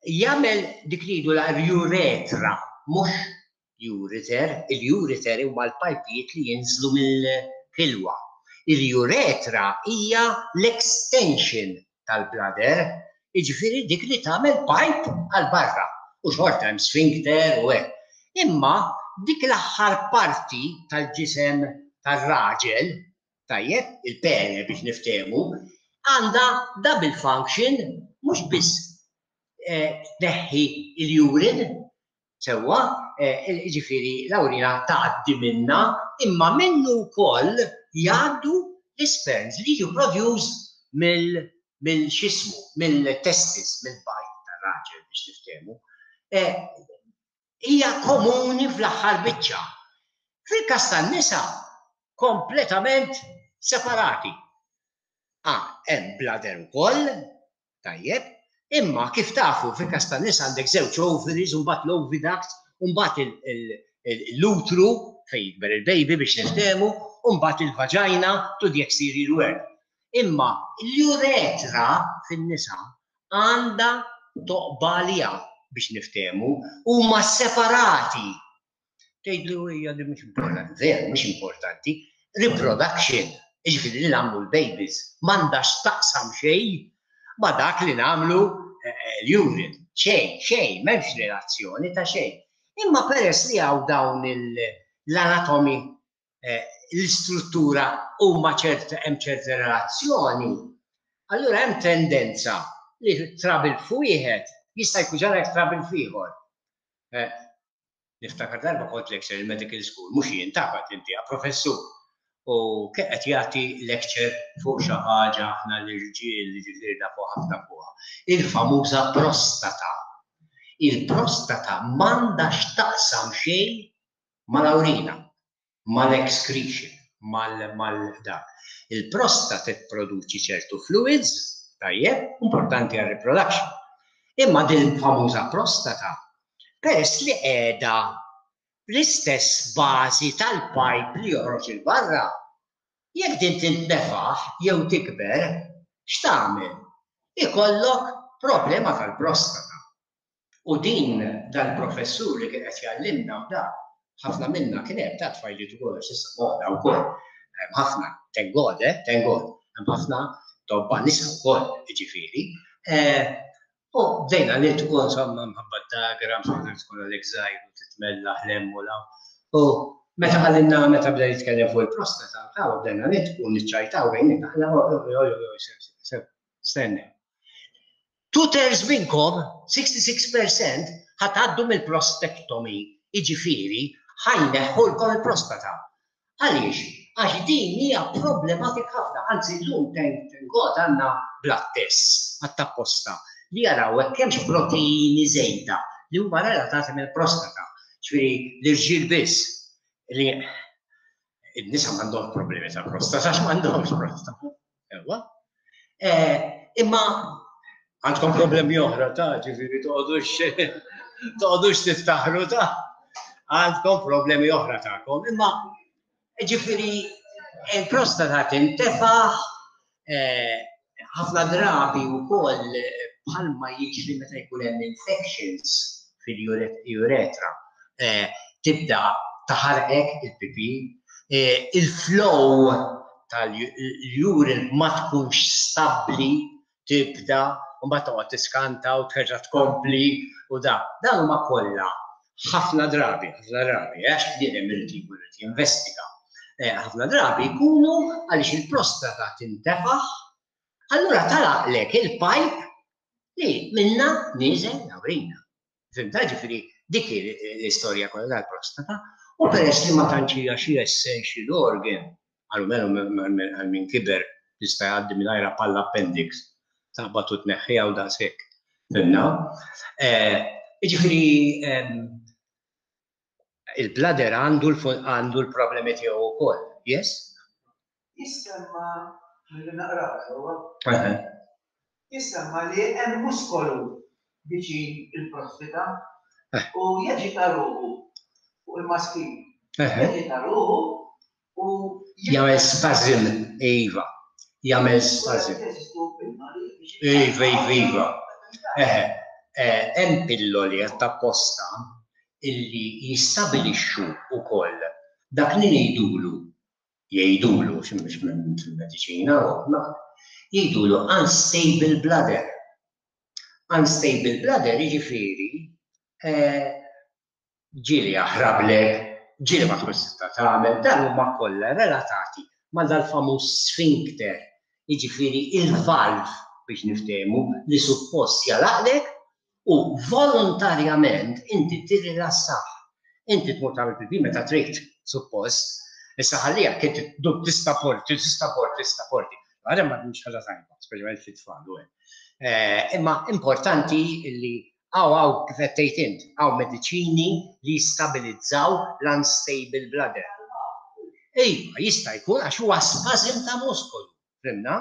Speaker 1: jagħmel dik li jgħidu la uretra, mhux ureter, il-ureter huma l-pajpijiet li jinżlu mill-kilwa. Il-uretra hija l-extension tal-bladder, jiġifieri dik li tagħmel pipe għal barra u xorta hemm sphincter u hekk. Imma dik l-aħħar parti tal-ġisem tar-raġel, tajjeb, il-pene biex niftehmu, għandha double function, mhux biss eh, tneħħi il-urine, sewwa, eh, jiġifieri l-awrina tgħaddi minna, imma minnu wkoll jgħaddu l-sperms li jiġu produced mill mill xismu, mill-testis, mill-bajd tar-raġel biex niftehmu. Eh, hija komuni fl-aħħar biċċa. Fil-każ tan-nisa kompletament separati. Ah, hemm bladder ukoll, tajjeb, imma kif tafu fil-każ tan-nisa għandek żewġ ovaries, u mbagħad l-oviduct, u mbagħad l-utru fejn jikber il-baby biex niftehmu, u mbagħad il-vagina to the exterior world. Imma l-uretra fin-nisa għandha toqba għaliha biex niftehmu, huma separati. Tgħidlu hija li mhux importanti, veru mhux importanti, reproduction, jiġifieri li nagħmlu l-babies, m'għandax taqsam xejn ma dak li nagħmlu eh, l-urine. Xejn, xejn, m'hemmx relazzjoni ta' xejn. Imma peress li hawn dawn l-anatomy, eh, l-istruttura huma ċert hemm ċerta relazzjoni, allura hemm tendenza li trouble f'wieħed jista' jkun ġarek trouble f'ieħor. Eh, niftakar darba kont lecture il-medical school, mhux jien tabat inti, professur. U qed jagħti lecture fuq xi ħaġa aħna l-irġiel li ġifieri nafu ħafna fuqha. Il-famuża prostata. Il-prostata m'għandha x'taqsam xejn mal-awrina, mal-excretion, mal-dak. Il-prostata tipproduċi ċertu fluids, tajjeb, importanti għal reproduction. Imma din famuża prostata, peress li qiegħda l-istess bażi tal-pipe li joħroġ il-barra, jekk din tintnefaħ jew tikber, x'tagħmel? Ikollok problema tal-prostata. U din dal-professur li kien qed jgħallimna u da, ħafna minna kien hemm ta' tfajliet ukoll għax issa moda wkoll. Hemm ħafna, thank God, eh, thank God, hemm ħafna tobba nisa wkoll, jiġifieri. Eh, u bdejna nitqu insomma mħabba diagram, insomma tkun għalek żgħir u titmellaħ l-hemm u l-hawn. U meta ħallinna meta bda jitkellem fuq il-prostata, ta' bdejna nitqu niċċajtaw bejnietna, aħna oj oj oj stenna. Two thirds minnkom, sixty-six percent, ħa tgħaddu mill-prostatectomy, jiġifieri ħa jneħħulkom il-prostata. Għaliex? Għax din hija problematik ħafna, anzi llum thank God għandna blood tests għat-tapposta li jaraw hekk hemmx proteini żejda li huma relatati mill-prostata. Ġifieri l-irġiel biss li n-nisa m'għandhom problemi ta' prostata għax m'għandhomx prostata. Ewa. Imma għandkom problemi oħra ta' ġifieri toqgħodux toqgħodux tiftaħru ta' għandkom problemi oħra tagħkom. Imma ġifieri il-prostata tintefaħ ħafna drabi wkoll bħalma jiġri meta jkun hemm infections fil-uretra. Tibda taħarqek il-pipi, il-flow tal-urine ma tkunx stabbli, tibda u mbagħad toqgħod tiskanta u terġa' tkompli u da. Dan huma kollha ħafna drabi, ħafna drabi, għax bniedem irid jkun irid jinvestiga. Ħafna drabi jkunu għaliex il-prostata tintefaħ, allura tagħlaqlek il-pipe li minna nieżel l-awrina. Fhimta? Ġifieri dik l-istorja kollha tal-prostata u peress li ma tantx hija xi essential organ, għalmenu għal min kiber tista' jgħaddi mingħajr bħal appendix, taqbad u tneħħiha u daqshekk. Fhimna? Ġifieri il-bladder għandu għandu l-problemi tiegħu wkoll. Yes?
Speaker 3: Jissemma li naqraw sewwa. Jissemma li hemm muskolu viċin il-prostata u jaġita ruħu fuq il-maskil. Jaġita ruħu u
Speaker 1: jagħmel spasm, iva. Jagħmel spasm. Iva, iva, iva. Eħe, hemm pilloli apposta illi jistabilixxu wkoll dak li ngħidulu jgħidulu mhux fil-mediċina, jgħidulu unstable bladder. Unstable bladder jiġifieri ġieli jaħrablek, ġieli ma tkunx tista' tagħmel, dan huma kollha relatati ma' dal-famuż sphincter, jiġifieri il-valve biex niftehmu li suppost jagħlaqlek u volontarjament inti tirrilassah. Inti tmur tagħmel pipi meta trid, suppost. Issa ħallija inti dub tista' porti, tista' porti, tista' porti. Għadha ma mhux ħaġa tajba, speċjalment fit-tfal u hekk. Imma importanti li hawn hawn kif qed tgħid int, hawn mediċini li jistabilizzaw l-unstable bladder. Iva, jista' jkun għax huwa spasm ta' muskolu. Fhimna?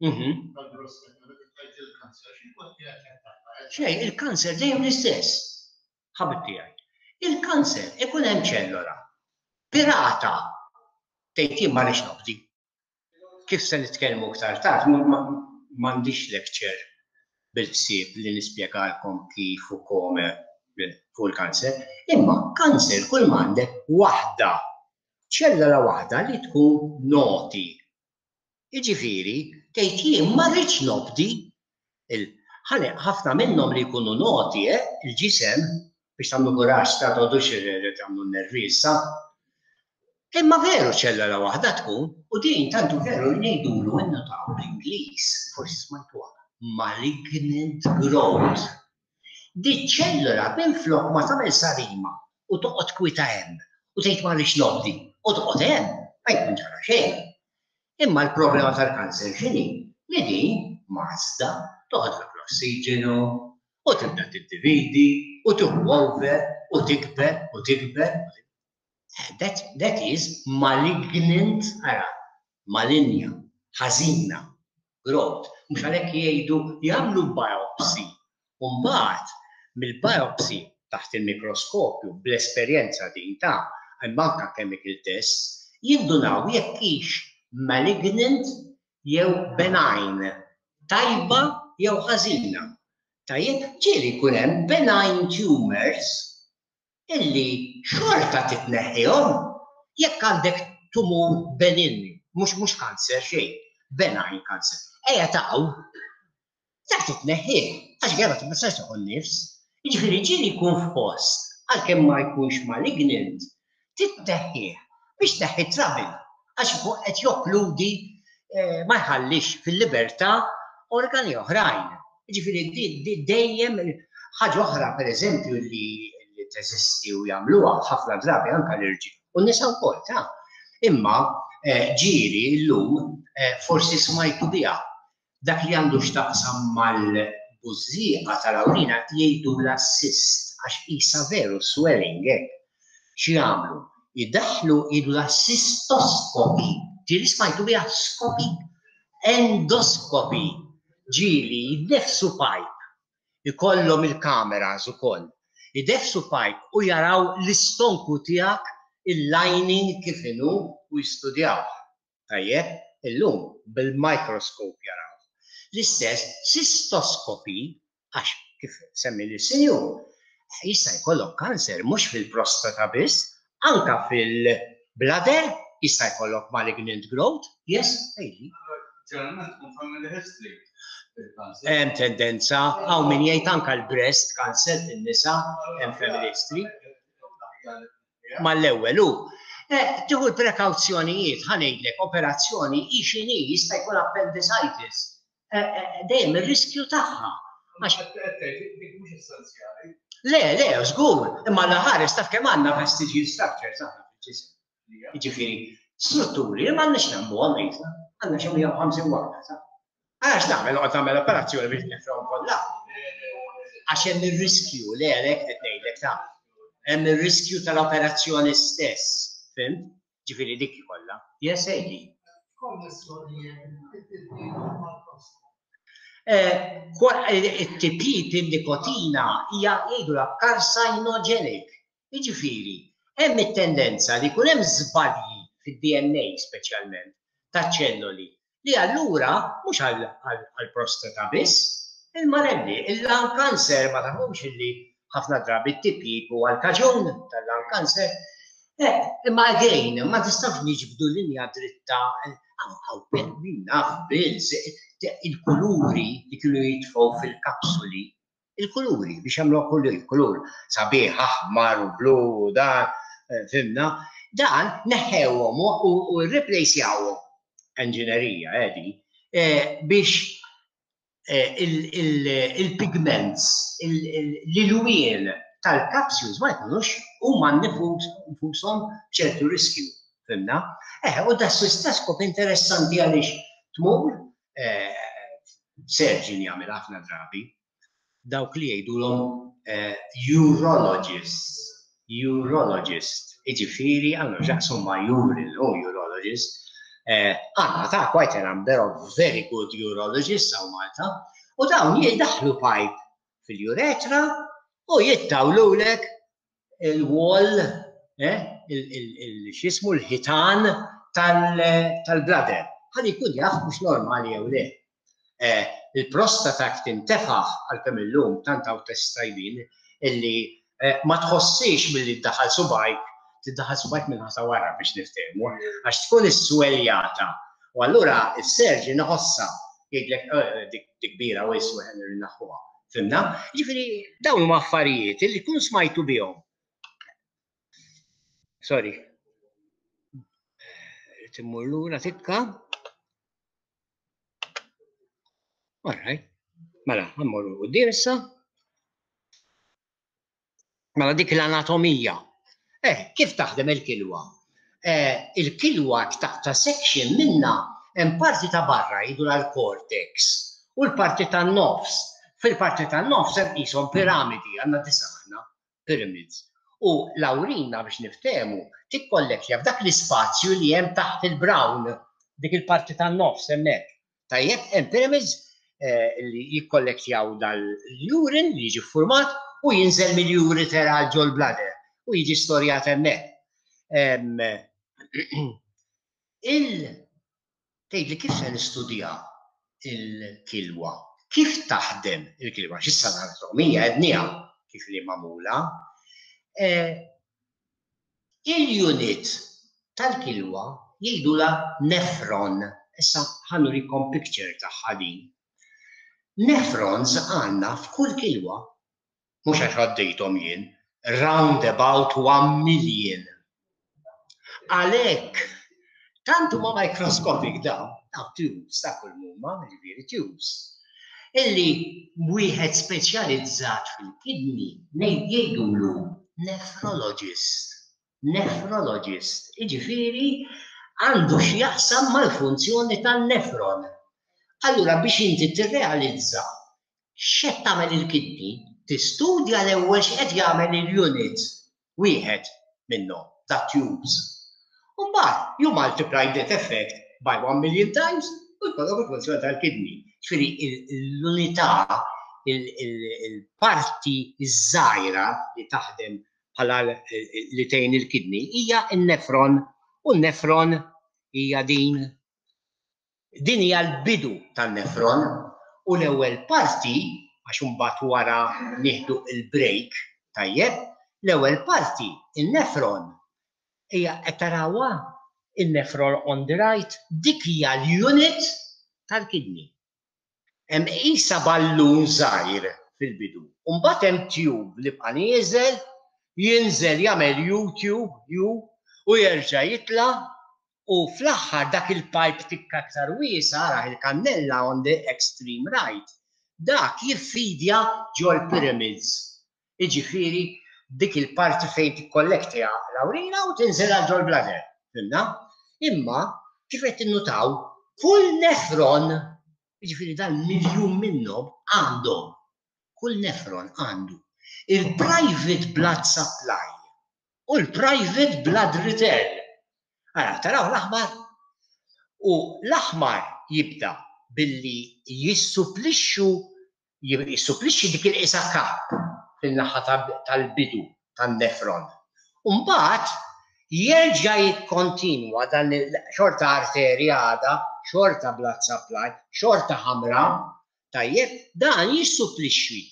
Speaker 1: Mhm. Xejn, il-kanser dejjem l-istess. Ħabib tiegħi. Il-kanser ikun hemm ċellola. Pirata tgħid jien ma rridx nobdi. Kif se nitkellmu iktar tard, m'għandix lecture bil-ħsieb li nispjegalkom kif u come fuq il-kanser, imma kanser kull m'għandek waħda, ċellola waħda li tkun naughty. Jiġifieri tgħid jien ma rridx nobdi. Ħafna minnhom li jkunu naughty, eh, il-ġisem biex tagħmlu kuraġġ ta' toqgħodux tagħmlu nervi issa. Imma veru ċellula waħda tkun, u din tantu veru li ngħidulu, innotaw bl-Ingliż, forsi smajtuha, malignant growth. Di ċellula minflok ma tagħmel sarima u toqgħod kwita hemm u tgħid ma rridx nobdi u toqgħod hemm, ma jkun ġara xejn. Imma l-problema tal-kanser x'inhi? Li din mażda toħodlok l-ossiġenu u tibda tiddividi u tieħu over u tikber u tikber. That, that is malignant, ara, malinja, ħażina, growth. Mhux għalhekk jgħidu jagħmlu biopsy. U mbagħad mill-biopsy taħt il-mikroskopju, bl-esperjenza din ta' imma anka chemical tests, jindunaw jekk hix malignant jew benign, tajba jew ħażina. Tajjeb, ġieli jkun hemm benign tumors illi xorta titneħħihom. Jekk għandek tumur benign, mhux mhux kanser xejn, benign cancer. Ejja taqgħu, dak titneħħih, għax għera ma tistax tieħu nifs. Jiġifieri ġieli jkun f'post, għalkemm ma jkunx malignant, titneħħih biex tneħħi trouble, għax ikun qed jokkludi, eh, ma jħallix fil-libertà organi oħrajn. Jiġifieri dejjem ħaġa oħra, pereżempju, li li teżisti u jagħmluha ħafna drabi anke l-irġiel u n-nisa wkoll ta'. Imma eh, ġieli llum eh, forsi smajtu biha, dak li għandu x'taqsam mal-bużżieqa tal-awrina jgħidu la cyst, għax isa veru swelling hekk. X'jagħmlu? Jidaħlu, jgħidu la cystoscopy. Ġieli smajtu biha scopy? Endoscopy. Ġieli jdeffsu pipe. Ikollhom il-kameras ukoll. Ideffsu pipe u jaraw l-istonku tiegħek, il-lining kif inhu, u jistudjaw. Tajjeb, illum bil-microscope jaraw. L-istess cystoscopy, għax kif semmi l-sinjur, jista' jkollok kanser mhux fil-prostata biss, anka fil-bladder jista' jkollok malignant growth. Yes, ejli.
Speaker 4: Ġeneralment tkun family history.
Speaker 1: Hemm tendenza, hawn min jgħid anka l-breast cancer fin-nisa hemm family history. Mal-ewwel hu. Eh, tieħu l-prekawzjonijiet, ħa ngħidlek, operazzjoni hi x'inhi, jista' jkun appendicitis. Eh, eh, dejjem ir-riskju tagħha. Għax
Speaker 4: Dik mhux essenzjali.
Speaker 1: Le, le, żgur, imma l-aħħar taf kemm għandna vestigial structures aħna fil-ġisem. Jiġifieri, strutturi li m'għandniex nagħmluhom qisna, għandna xi mija u ħamsin waħda, sa. Għax nagħmel noqgħod nagħmel operazzjoni biex nefrhom kollha? Għax hemm ir-riskju, le, għalhekk qed ngħidlek ta' hemm ir-riskju tal-operazzjoni stess, fhimt? Ġifieri dik kollha. Yes, Ejli.
Speaker 2: Konnessjoni it-tipjip mal-prostata.
Speaker 1: Eh, it-tipjip, in-nikotina hija jgħidu la carcinogenic. Jiġifieri, hemm it-tendenza li jkun hemm żbalji fid-D N A speċjalment ta' ċelloli li allura mhux għall-prostata biss, il-marelli, il-lung cancer, ma tafux illi ħafna drabi t-tipjip u għal-kaġun tal-lung cancer. Eh, imma again, ma tistax niġbdu linja dritta, għaw, min naf, bills, il-kuluri li kienu jitfgħu fil-kapsuli, il-kuluri biex jagħmlu kulur, il-kulur sabiħ, aħmar u blu u dan, eh, fhimna, dan neħewhom u u replacejawhom, enġinerija edi, eh, biex eh, il- il- il-pigments, l-ilwien tal-capsules ma jkunux huma nfushom ċertu riskju. Fhimna? Eh, u da cystoscope interessanti għaliex tmur, eh, surgeon jagħmel ħafna drabi, dawk li jgħidulhom eh, urologist, urologist, jiġifieri għandhom x'jaqsmu ma' urine, u urologist, eh, għandna ta' quite a number of very good urologists hawn Malta, u dawn jiddaħlu pipe fil-uretra u jittawlulek il-wall, eh, il-xismu, l-ħitan tal-bladder. Ħalli jkun jaf mhux normali jew le. Eh, il-prostata tintefaħ, għalkemm illum tant hawn test tajbin illi eh, ma tħossix milli ddaħħal subgħajk, tiddaħħal subgħajk minn ħasa wara biex niftehmu, għax tkun is-swelljata. U allura il-surgeon iħossha, jgħidlek eh, dik kbira u jiswa naħuha. Fhimna? Ġifieri dawn huma affarijiet illi kun smajtu bihom. Sorry. Irrid immur lura tikka. All right. Mela, ħa mmorru quddiem issa. Mela dik l-anatomija. Eh, kif taħdem il-kilwa? Eh, il-kilwa taqta' section minna, hemm parti ta' barra jgħidu l-cortex u l-parti tan-nofs. Fil-parti tan-nofs hemm qishom piramidi, għandna disa' aħna, pyramids. U l-awrina, biex niftehmu, tikkollektja f'dak l-ispazju li hemm taħt il-brown, dik il-parti tan-nofs hemmhekk. Tajjeb, hemm pyramids eh, li jikkollektjaw dal-urine li jiġi format u jinżel mill-ureter għal ġol-bladder u jiġi storjat hemmhekk. Em, Il tgħidli kif se nistudja il-kilwa? Kif taħdem il-kilwa? X'issa l-anatomija għednieha kif li magħmula. Eh, Il-unit tal-kilwa jgħidula nephron. Issa ħa nurikom picture tagħha din. Nephrons għandna f'kull kilwa, mhux għax għaddejthom jien, round about one million. Għalhekk, tant huma microscopic dawn, dawn tubes ta' kull mumma, ġifieri tubes, illi wieħed speċjalizzat fil-kidney jgħidulu nephrologist. Nephrologist, jiġifieri għandu x'jaqsam mal-funzjoni tan-nephron. Allura biex inti tirrealizza x'qed tagħmel il-kidney, tistudja l-ewwel x'qed jagħmel il-unit wieħed minnhom, ta' tubes. Mbagħad you multiply that effect by one million times u jkollok il-funzjoni tal-kidney. Ġifieri l-unità, il-parti ż-żgħira li taħdem bħala li tgħin il-kidney hija n-nephron u n-nephron hija din. Din hija l-bidu tan-nephron u l-ewwel parti, għax imbagħad wara nieħdu il-break, tajjeb, l-ewwel parti, il-nephron, hija qed tarawha il-nephron on the right, dik hija l-unit tal-kidney. Hemm qisha ballun żgħir fil-bidu. U mbagħad hemm tube li bqa' nieżel, jinżel jagħmel U-tube, U, u jerġa' jitla' u fl-aħħar dak il-pipe tikka aktar wiesa', ara il-kannella on the extreme right, dak jiffidja ġol pyramids. Jiġifieri dik il-parti fejn tikkollektja l-awrina u tinżel għal ġol bladder. Fhimna? Imma kif qed tinnutaw, kull nephron, jiġifieri dan miljun minnhom għandhom, kull nephron għandu il-private blood supply u l-private blood return. Ara, taraw l-aħmar? U l-aħmar jibda billi jissupplixxu jissupplixxi dik il-qisha cup fil-naħa tal-bidu tan-nephron. Mbagħad jerġa' jikkontinwa dan xorta arterja għada, xorta blood supply, xorta ħamra, tajjeb, dan jissupplixxi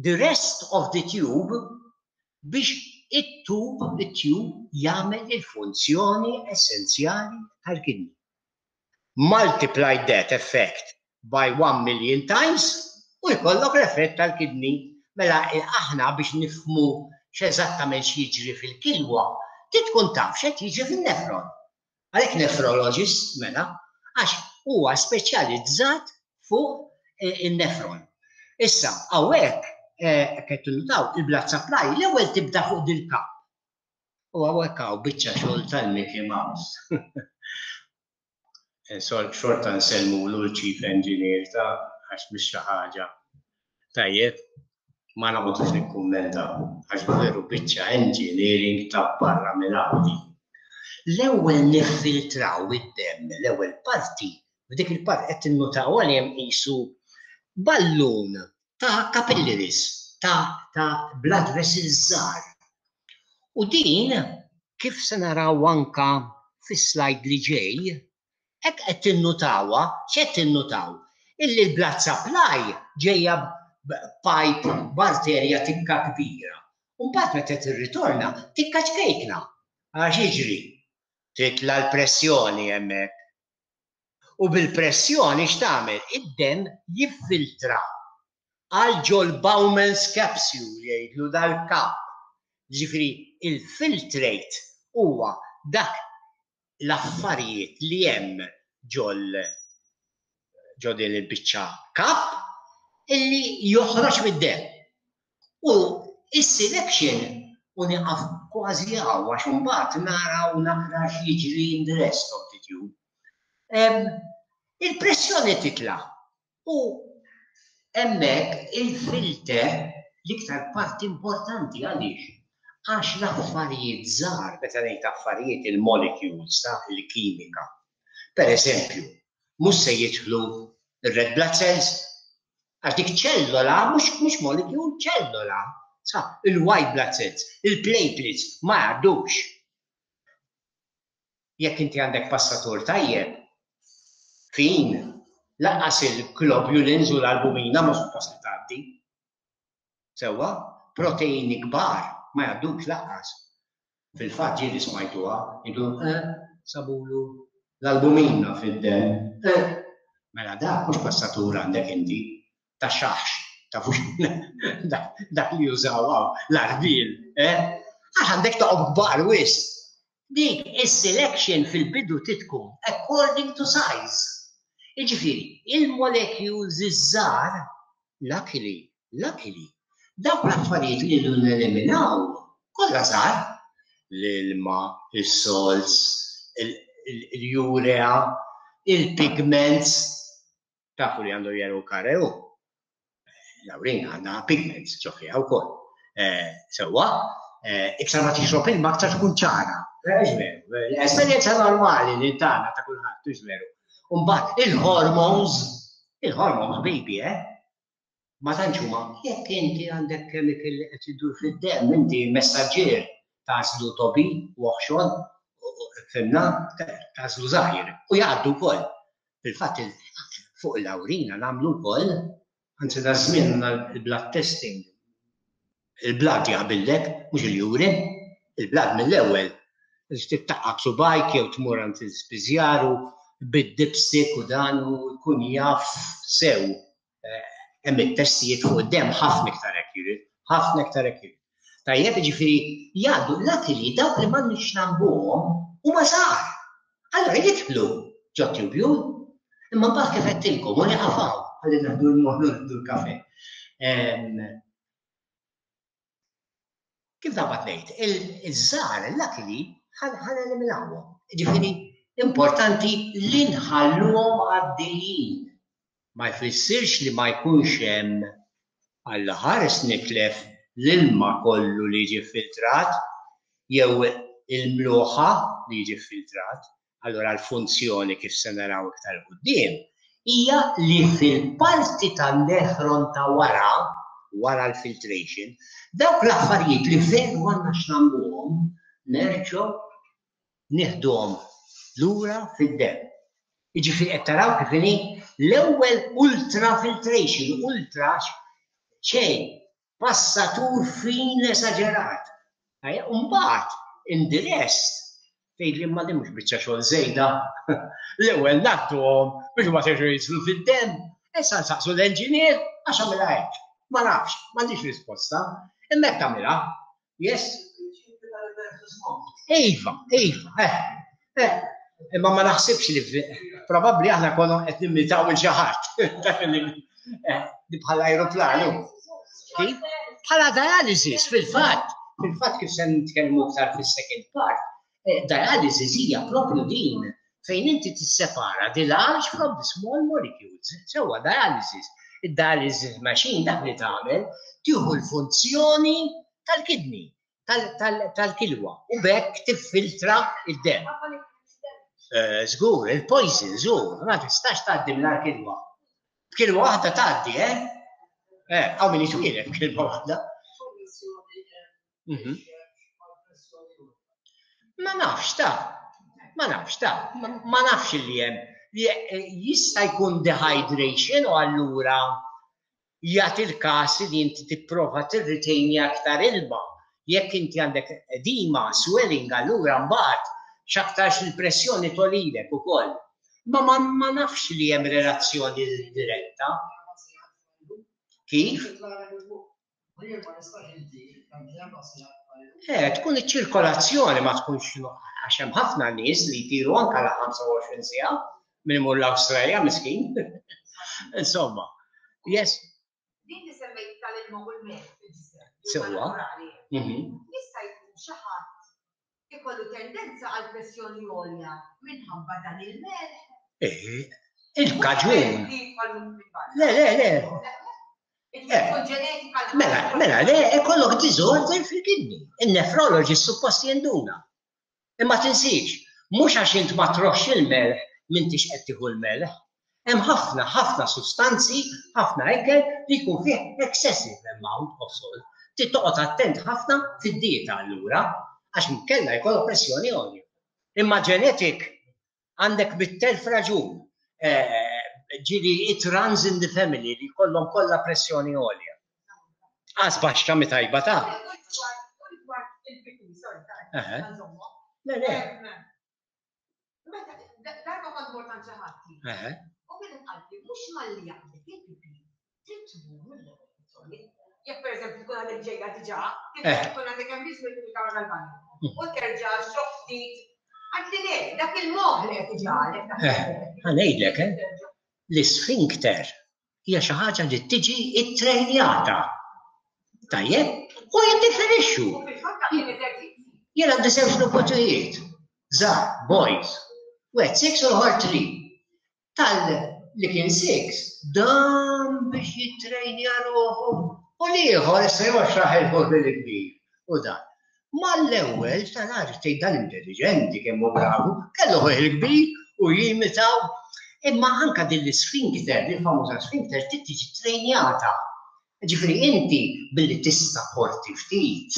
Speaker 1: the rest of the tube biex it-tube, it-tube jagħmel il-funzjoni essenzjali tal-kidney. Multiply that effect by one million times u jkollok l-effett tal-kidney. Mela aħna biex nifhmu x'eżattament x'jiġri fil-kilwa, trid tkun taf x'qed jiġri fin-nephron. Għalhekk nephrologist mela, għax huwa speċjalizzat fuq eh, in-nephron. Issa, hawnhekk eh, qed tinnutaw il-blood supply l-ewwel tibda fuq dil-cup. U hawnhekk hawn biċċa xogħol tal-Mickey Mouse. Eh, xorta nsellmulu l-chief engineer ta' għax mhix xi ħaġa. Tajjeb, ma noqgħodux nikkummenta għax veru biċċa engineering ta' barra minn hawn. L-ewwel niffiltraw id-demm, l-ewwel parti, f'dik il-parti qed tinnutaw għal hemm qisu ballun ta' capillaries, ta', ta' blood vessels żgħar. U din kif se naraw anka fis-slide li ġej, hekk qed tinnutawha, x'qed tinnutaw? Illi l-blood supply ġejja pipe b'arterja tikka kbira. U mbagħad meta tirritorna tikka ċkejkna. Għax jiġri? Titla l-pressjoni hemmhekk. U bil-pressjoni x'tagħmel? Id-demm jiffiltra għal ġol Bowman's capsule jgħidlu dal-cup. Ġifieri il-filtrate huwa dak L-affarijiet li hemm ġol ġo din il-biċċa cup illi joħroġ mid-demm. U is-selection, u nieqaf kważi hawn għax imbagħad naraw naqra x'jiġri in the rest of the tube. Il-pressjoni titla' u hemmhekk il-filter, l-iktar parti importanti. Għaliex? Għax l-affarijiet żgħar, meta ngħid affarijiet, il-molecules ta' il-kimika. Per eżempju, mhux se jidħlu ir-red blood cells, għax dik ċellola, mhux mhux molecule, ċellola. Sa, il-white blood cells, il-platelets, ma jgħaddux. Jekk inti għandek passatur tajjeb, fin, lanqas il-globulins u l-albumina ma suppost li tgħaddi. Sewwa, proteini kbar ma jgħaddux lanqas. Fil-fatt ġieli smajtuha, jgħidu, eh, sabulu l-albumina fid-demm. Eh, mela dak mhux passatur għandek inti, ta' xaħx, tafux dak li jużaw l-arbil, eh? Għax għandek toqob kbar wisq. Dik is-selection fil-bidu titkun according to size. Jiġifieri, il-molecules iż-żgħar, luckily, luckily, dawk l-affarijiet li neliminaw kollha żgħar, l-ilma, is-salts, il-urea, il-pigments, tafu li għandu yellow colour. L-awrina għandha pigments ġo fiha wkoll. Sewwa, iktar ma tixrob ilma, aktar tkun ċara. Veru, esperjenza normali li tagħna ta' kulħadd, mhux veru? Mbagħad il-hormones, il-hormones baby, eh? Ma tantx huma, jekk inti għandek chemical li qed idur fid-demm, inti messaġġier tagħżlu tobi u oħxon, fhimna, tagħżlu żgħir u jgħaddu wkoll. Fil-fatt fuq l-awrina nagħmlu wkoll, anzi da żmien il-blood testing. Il-blood jaqbillek, mhux il-urine, il-blood mill-ewwel. Tittaqqab subgħajk jew tmur għand il-spiżjaru bid-dipstick u dan u jkun jaf sew. Hemm it-testijiet fuq id-demm ħafna iktar accurate, ħafna iktar accurate. Tajjeb, ġifieri jgħaddu, luckily dawk li m'għandniex nagħmluhom huma żgħar. Allora jidħlu ġo tubule, imma mbagħad kif għedtilkom u nieqaf hawn ħalli naħdu l-moħlu l-kafe. Kif naqbad ngħid, iż-żgħar luckily ħa neliminawhom. Ġifieri importanti li nħalluhom għaddejjin. Ma jfissirx li ma jkunx hemm, Alla ħares, nitlef l-ilma kollu li jiġi filtrat jew il-mluħa li jiġi filtrat. Allora l-funzjoni, kif se naraw iktar quddiem, hija li fil-parti tan-nefron ta' wara, wara l-filtration, dawk l-affarijiet li veru għandna x'nagħmluhom, nerġgħu nieħduhom lura fid-demm. Jiġifieri qed taraw kif inhi l-ewwel ultrafiltration, ultra xejn, passatur fin esaġerat. Mbagħad in the rest tgħid li ma din mhux biċċa xogħol żejda. L-ewwel ngħadduhom biex ma terġgħu jidħlu fid-demm, issa nsaqsu l-engineer għax għamilha hekk. Ma nafx, m'għandix risposta. Imma hekk tagħmilha. Yes? Iva, iva, eh, eh. Imma ma naħsibx li probabbli aħna konna qed nimitaw il xi ħadd. Di bħala aeroplanu. Kif? Bħala dialysis, fil-fatt. Fil-fatt kif se nitkellmu aktar fis-second part, dialysis hija propju din fejn inti tissepara the large from the small molecules. Sewwa, dialysis. Id-dialysis machine dak li tagħmel, tieħu l-funzjoni tal-kidney, tal-kilwa u b'hekk tiffiltra id-demm. Żgur, il-poison, żgur, ma tistax tgħaddi mingħajr kilwa. B'kilwa waħda tgħaddi, eh? Eh, hawn min jitwieled b'kilwa waħda. Mhm. Ma nafx ta' ma nafx ta' ma nafx li hemm. Jista' jkun dehydration u allura jagħti l-każ li inti tipprova tirritejni aktar ilma. Jekk inti għandek edema, swelling, allura mbagħad x'aktarx il-pressjoni togħlilek ukoll. Ma ma, ma nafx li hemm relazzjoni diretta. Kif?
Speaker 2: Ma nistax inti,
Speaker 1: Eh, tkun iċ-ċirkolazzjoni ma tkunx għax hemm ħafna nies li jtiru anke la ħamsa u għoxrin siegħa minn imur l-Awstralja miskin. Insomma, yes.
Speaker 3: Din li semmejt tal-ilma u l-melħ fil-ġisem.
Speaker 1: Sewwa. Mhm.
Speaker 3: Jista' jkun xi ħadd ikollu tendenza għal pressjoni għolja minħabba dan il-melħ?
Speaker 1: Eh, il-kaġun. Le, le, le. Mela, mela, le, ikollok disorder fil-kidney. Il-nefrologist suppost jinduna. Imma tinsiex, mhux għax int ma troxx il-melħ m'intix qed tieħu l-melħ. Hemm ħafna, ħafna sustanzi, ħafna ekel li jkun fih excessive amount of salt. Trid toqgħod attent ħafna fid-dieta allura, għax inkella jkollok pressjoni għolja. Imma genetic għandek bit-telf raġun. Eh, ġieli it runs in the family li kollhom kollha pressjoni għolja. Għas baxxa mi tajba ta'. Le, le.
Speaker 3: Meta darba kont mort għand xi ħadd. U kienet qaltli mhux malli jaqbdek il-pipi, trid tmur mill-ewwel. Jekk pereżempju tkun għadek ġejja diġà, tkun għadek hemm biex mill-kamra tal-banju. U terġa' xof ftit. Għadli le, dak il-moħħ li qed iġagħlek.
Speaker 1: Ħa ngħidlek, eh? L-isfinkter hija xi ħaġa li tiġi ttrejnjata. Tajjeb? U jiddefinixxu. Jien għandi żewġ niputijiet. Żgħar, boys. Wieħed six u l-ieħor three. Tal li kien six, dam biex jittrejnja ruħu. U l-ieħor issa jwaxxaħ il-ħur bil-kbir. U dan. Mal-ewwel tal-għar tgħid dan intelligenti kemm hu bravu, kellu ħuh il-kbir u jimitaw. Imma anka din l-isfinkter, din famuża sfinkter, trid tiġi trejnjata. Ġifieri inti billi tista' porti ftit,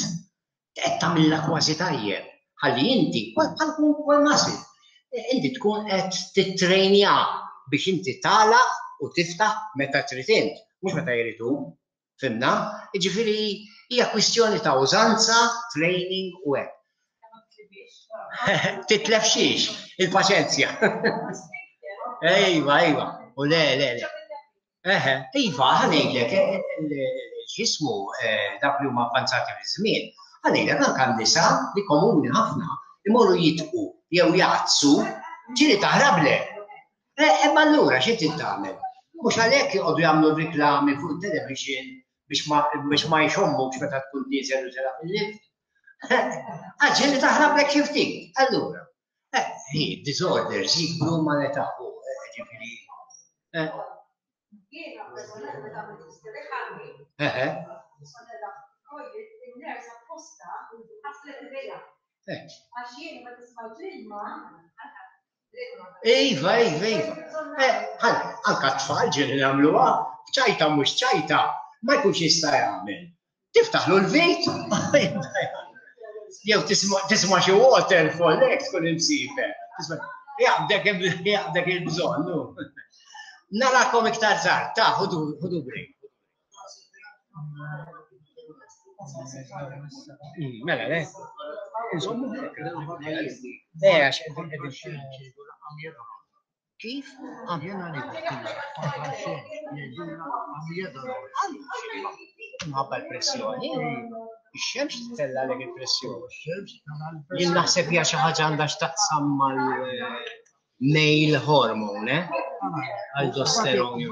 Speaker 1: qed tagħmilha kważi tajjeb. Ħalli inti, bħal kull muscle, inti tkun qed titrejnja biex inti tagħlaq u tiftaħ meta trid int, mhux meta jrid hu. Fimna? Ġifieri hija kwistjoni ta' użanza, training u hekk. Titlef xiex, il-paċenzja. Ejwa, ejwa, u le, le, le. Eħe, iva, ħa ngħidlek, x'ismu dak li huma avvanzati fiż-żmien, ħa ngħidlek anke n-nisa li komuni ħafna imorru jitqu jew jgħaddsu, ġieli taħrablek. Imma allura xi trid tagħmel? Mhux għalhekk joqogħdu jagħmlu riklami fuq it-television biex ma jxommukx meta tkun nieżel u tela' fil-lift. Għax ġieli taħrablek xi ftit. Allura, hi disorders jikbru mal-età u ġifieri.
Speaker 3: Jiena personalment meta għamilt isterixani, in-ners apposta ħaslet idejha. Għax jien meta smajt l-ilma,
Speaker 1: Iva, iva, iva. Anka t-tfal ġieli nagħmluha, ċajta mhux ċajta, ma jkunx jista' jagħmel. Tiftaħlu l-vit, jew tisma' xi waterfall hekk tkun imsiefer. Jaqbdek il-bżonn. Narakom iktar tard, ta' ħudu break. Mela, le. Insomma, eh, għax Kif? Mħabba l-pressjoni. Ix-xemx tellgħalek il-pressjoni. Jien naħseb hija xi ħaġa għandha x'taqsam mal-male hormone, eh? Aldosterone.